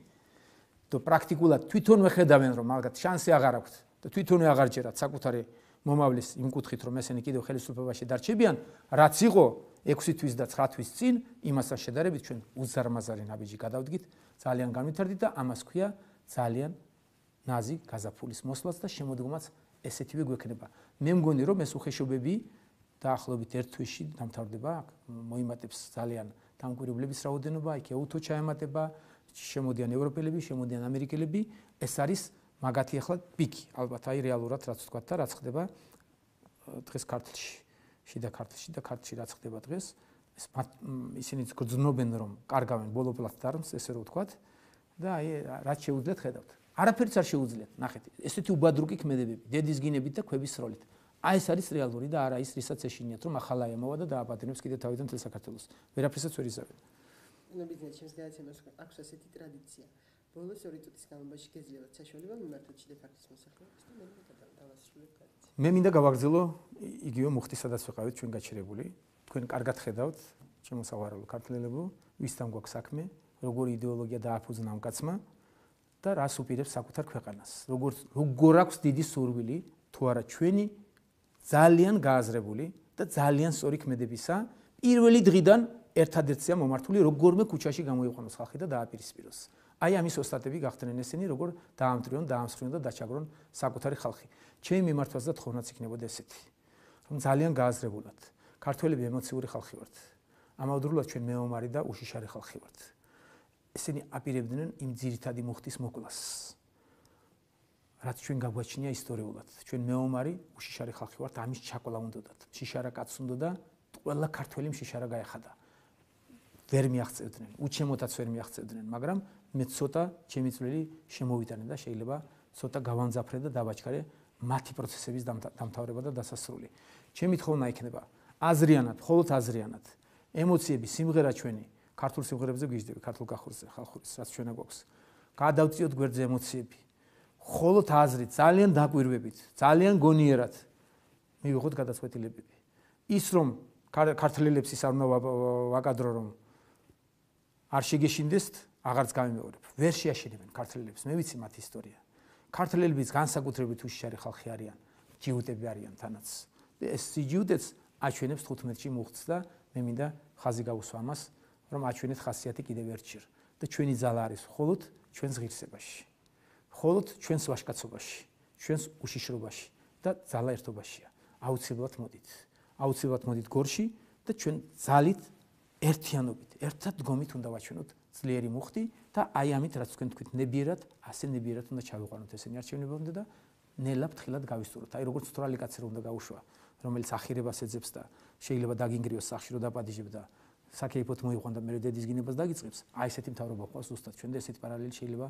და პრაქტიკულად თვითონვე ხედავენ რომ მაგათ შანსი აღარ აქვთ და თვითონვე აღარ ჯერათ საკუთარი მომავლის იმ კუთხით რომ ესენი კიდევ ხელისუფლებაში დარჩებიან რაც იყო 6 თვის და 9 თვის წინ იმასთან შედარებით ჩვენ უზარმაზარი ნაბიჯი გადავდგით ძალიან განვითარდით და ამას ქვია ძალიან ნაზი გაზაფხულის მოსვლაც და შემოდგომაც ესეთივე გვექნება მე მგონი რომ ეს უხეშობები დაახლოებით ერთ თვეში დამთავრდება მოიმატებს ძალიან დამკვირვებლების რაოდენობა იქ ეუთო ჩაემატება შემოდიან ევროპელები შემოდიან ამერიკელები ეს არის მაგათი ახლა პიკი ალბათ აი რეალურად რაც ვთქვა და რაც ხდება დღეს ქართლში შიდა ქართლში და ქართლში რაც ხდება დღეს ეს ისინიც გრძნობენ რომ კარგავენ ბოლო პლატფორმს ესე რომ ვთქვა და აი რაც შეუძლიათ ხედავთ არაფერიც არ შეუძლიათ ნახეთ ესეთი უბადრუკი ქმედებები დედის გინებით და ქვების როლით აი ეს არის რეალური და არა ის რისაც ეშინიათ რომ ახლა ემოვა და დააპატიმრებს კიდე თავიდან თელ საქართველოს ვერაფერსაც ვერ იზავენ ნებისმიერ ჩემს გადაცემას აქვს ასეთი ტრადიცია ბოლოს 2 წუთის განმავლობაში გეძლევათ საშუალება მიმართოთ შიდა ქართლის მოსახლეობას და მე დავასრულებ გადაცემა მე მინდა გავაგრძელო იგივე მუხტი სადაც ვიყავით ჩვენ გაჩერებული თქვენ კარგად ხედავთ შემოსავალო ქართველებო ვისთან გვაქვს საქმე როგორი იდეოლოგია დააფუძნა ამ კაცმა და რას უპირებს საკუთარ ქვეყანას როგორ აქვს დიდი სურვილი თუ არა ჩვენი ძალიან გააზრებული და ძალიან სწორი ქმედებისა პირველი დღიდან ერთადერთია მომართული როგორმე ქუჩაში გამოიყვანოს ხალხი და დააპირისპიროს აი ამის ოსტატები გახდნენ ესენი როგორ დაამტრიონ დაამსხვრიონ და დაჩაგრონ საკუთარი ხალხი ჩემი მიმართვაც და თხოვნაც იქნებოდა ესეთი რომ ძალიან გააზრებულად ქართველები ემოციური ხალხი ვართ ამავდროულად ჩვენ მეომარი და უშიშარი ხალხი ვართ ესენი აპირებდნენ იმ ძირითადი მუხტის მოკლას რაც ჩვენ გაგვაჩნია ისტორიულად ჩვენ მეომარი უშიშარი ხალხი ვართ ამის ჩაკლა უნდათ შიშარა კაცს უნდა და ყველა ქართველი შიშარა გაეხადა ვერ მიაღწევდნენ უჩემოთაც ვერ მიაღწევდნენ მაგრამ მე ცოტა ჩემი წვლილი შემოვიტანე და შეიძლება ცოტა გავამძაფრე და დავაჩქარე მათი პროცესების დამთავრება და დასასრული ჩემი თხოვნა იქნება აზრიანად მხოლოდ აზრიანად ემოციები სიმღერა ჩვენი ქართულ სიმღერებზე გიждდები ქართულ გახურზე ხალხურის რაც ჩვენა გვაქვს გადავწიოთ გვერდზე ემოციები მხოლოდ აზრით ძალიან დაკვირვებით ძალიან გონიერად მივიღოთ გადაწყვეტილებები ის რომ ქართველებს ის არ უნდა ვაკადრო რომ არ შეგეშინდესთ აღარც გამიმეორებ ვერ შეაშენებენ ქართველებს მე ვიცი მათი ისტორია ქართველებიც განსაკუთრებით უშიშარი ხალხი არიან ჯიუტები არიან თანაც ეს სიჯუტეც აჩვენებს 15-ში მუხტს და მე მინდა ხაზი გავუსვა ამას რომ აჩვენეთ ხასიათი კიდევ ერთჯერ და ჩვენი ძალა არის მხოლოდ ჩვენს ღირსებაში მხოლოდ ჩვენს ვაჟკაცობაში ჩვენს უშიშრობაში და ძალა ერთობაშია აუცილებლად მოდით გორში და ჩვენ ძალით ერთიანობით, ერთად დგომით უნდა ვაჩვენოთ ძლიერი მუხტი და აი ამით რაც თქვენ თქვით ნებიერად, ასე ნებიერად უნდა ჩავიყვანოთ ესენი არჩევნებამდე და ნელა ფრთხილად გავისწოროთ. აი როგორც თვრალი კაცი რომ უნდა გაუშვა, რომელიც ახირებას ეძებს და შეიძლება დაგინგრიოს სახში რომ დაპატიჟებ და საკეიფოთ მოიყვან და მე დედის გინებას დაგიწყებს. აი ესეთი მთავრობა ყავს ზუსტად ჩვენ და ესეთი პარალელი შეიძლება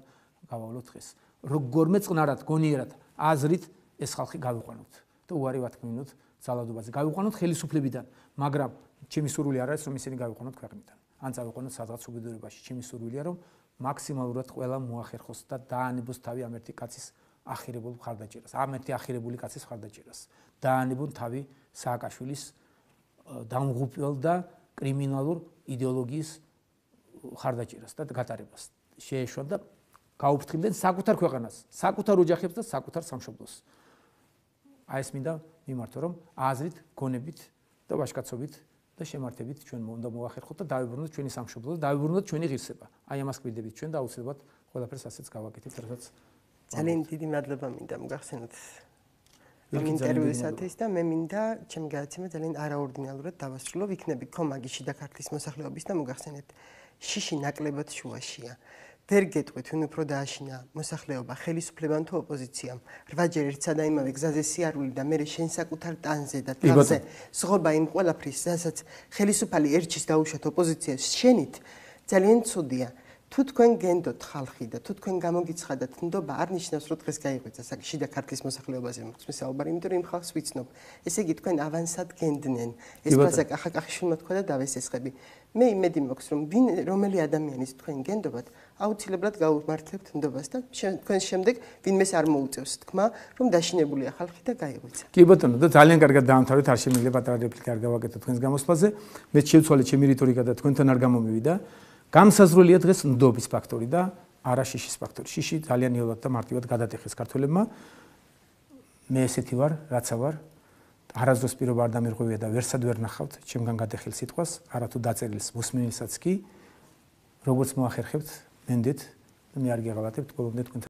გავავლოთ დღეს. როგორმე წყნარად, გონიერად, აზრით ეს ხალხი გავიყვანოთ და უარი ვათქმინოთ ძალადობაზე. გავიყვანოთ ხელისუფლებიდან, მაგრამ ჩემი სურვილი არ არის რომ ისინი გავიყვანოთ ქვეყნიდან. ან წავიყვანოთ სადღაც უბედურებაში. ჩემი სურვილია რომ მაქსიმალურად ყველა მოახერხოს და დაანებოს თავი ამ ერთი კაცის ახირებულ მხარდაჭერას. ამ ერთი ახირებული კაცის მხარდაჭერას. დაანებონ თავი სააკაშვილის დამღუპველ და კრიმინალურ იდეოლოგიის მხარდაჭერას და გატარებას. შეეშვან და გაუფრთხილდნენ საკუთარ ქვეყანას, საკუთარ ოჯახებს და საკუთარ სამშობლოს. აი ეს მინდა მიმართო რომ აზრით, გონებით და ვაჟკაცობით და შემართებით ჩვენ უნდა მოახერხოთ და დავიბრუნოთ ჩვენი სამშობლო და დავიბრუნოთ ჩვენი ღირსება. აი ამას გვიდებით ჩვენ და აუცილებლად ყველაფერს ასეც გავაკეთებთ, რასაც ძალიან დიდი მადლობა მინდა მოგახსენოთ ამ ინტერვიუსათვის და მე მინდა ჩემი გადაცემა ძალიან არაორდინალურად დავასრულო. ვიქნები კომაგი შიდა ქართლის მოსახლეობის და მოგახსენეთ შიში ნაკლებად შუაშია. ვერ გეტყვით ვინ უფრო დააშინა მოსახლეობა ხელისუფლებამ თუ ოპოზიციამ. 8 ჯერ ერთსა და იმავე გზაზე სიარული და მე შენ საკუთარ ტანზე და თავზე ზღობა იმ ყველაფრის, რასაც ხელისუფალი ერჩის დაუშვათ ოპოზიციას შენით ძალიან ცუდია. თუ თქვენ გენდოთ ხალხი და თუ თქვენ გამოგიცხადათ ნდობა არ ნიშნავს რომ დღეს გაიღვიძა შიდა ქართლის მოსახლეობაზე მოხსმის საუბარი, იმიტომ რომ იმ ხალხს ვიცნობ. ესე იგი თქვენ ავანსად გენდნენ. ეს ფრაზა კახაკახიშვილმა თქვა და დავესესხები. მე იმედი მაქვს რომ რომელი ადამიანის თქვენ გენდობათ, აუცილებლად გაუმართლებთ ნდობას და თქვენ შემდეგ ვინმეს არ მოუწევს თქმა, რომ დაშინებულია ხალხი და გაიღვიძა. კი ბატონო და ძალიან კარგად დაამთავრეთ, არ შემიძლია პატარა რეპლიკა არ გავაკეთო თქვენს გამოსვლაზე. მე შევცვალე ჩემი რიტორიკა და თქვენთან არ გამომივიდა. გამსაზრდელია დღეს ნდობის ფაქტორი და არა შიშის ფაქტორი. შიში ძალიან იოლად და მარტივად გადატეხეს ქართველებმა. მე ესეთი ვარ, რაცა ვარ. არასდროს პირობა არ დამირღვევია და ვერსად ვერ ნახავთ ჩემგან გადახილ სიტყვას, არათუ დაწერილს მოსმენილსაც კი. როგორც მოახერხებთ, მენდეთ და მე არ გეღალატებთ ბოლომდე თქვენ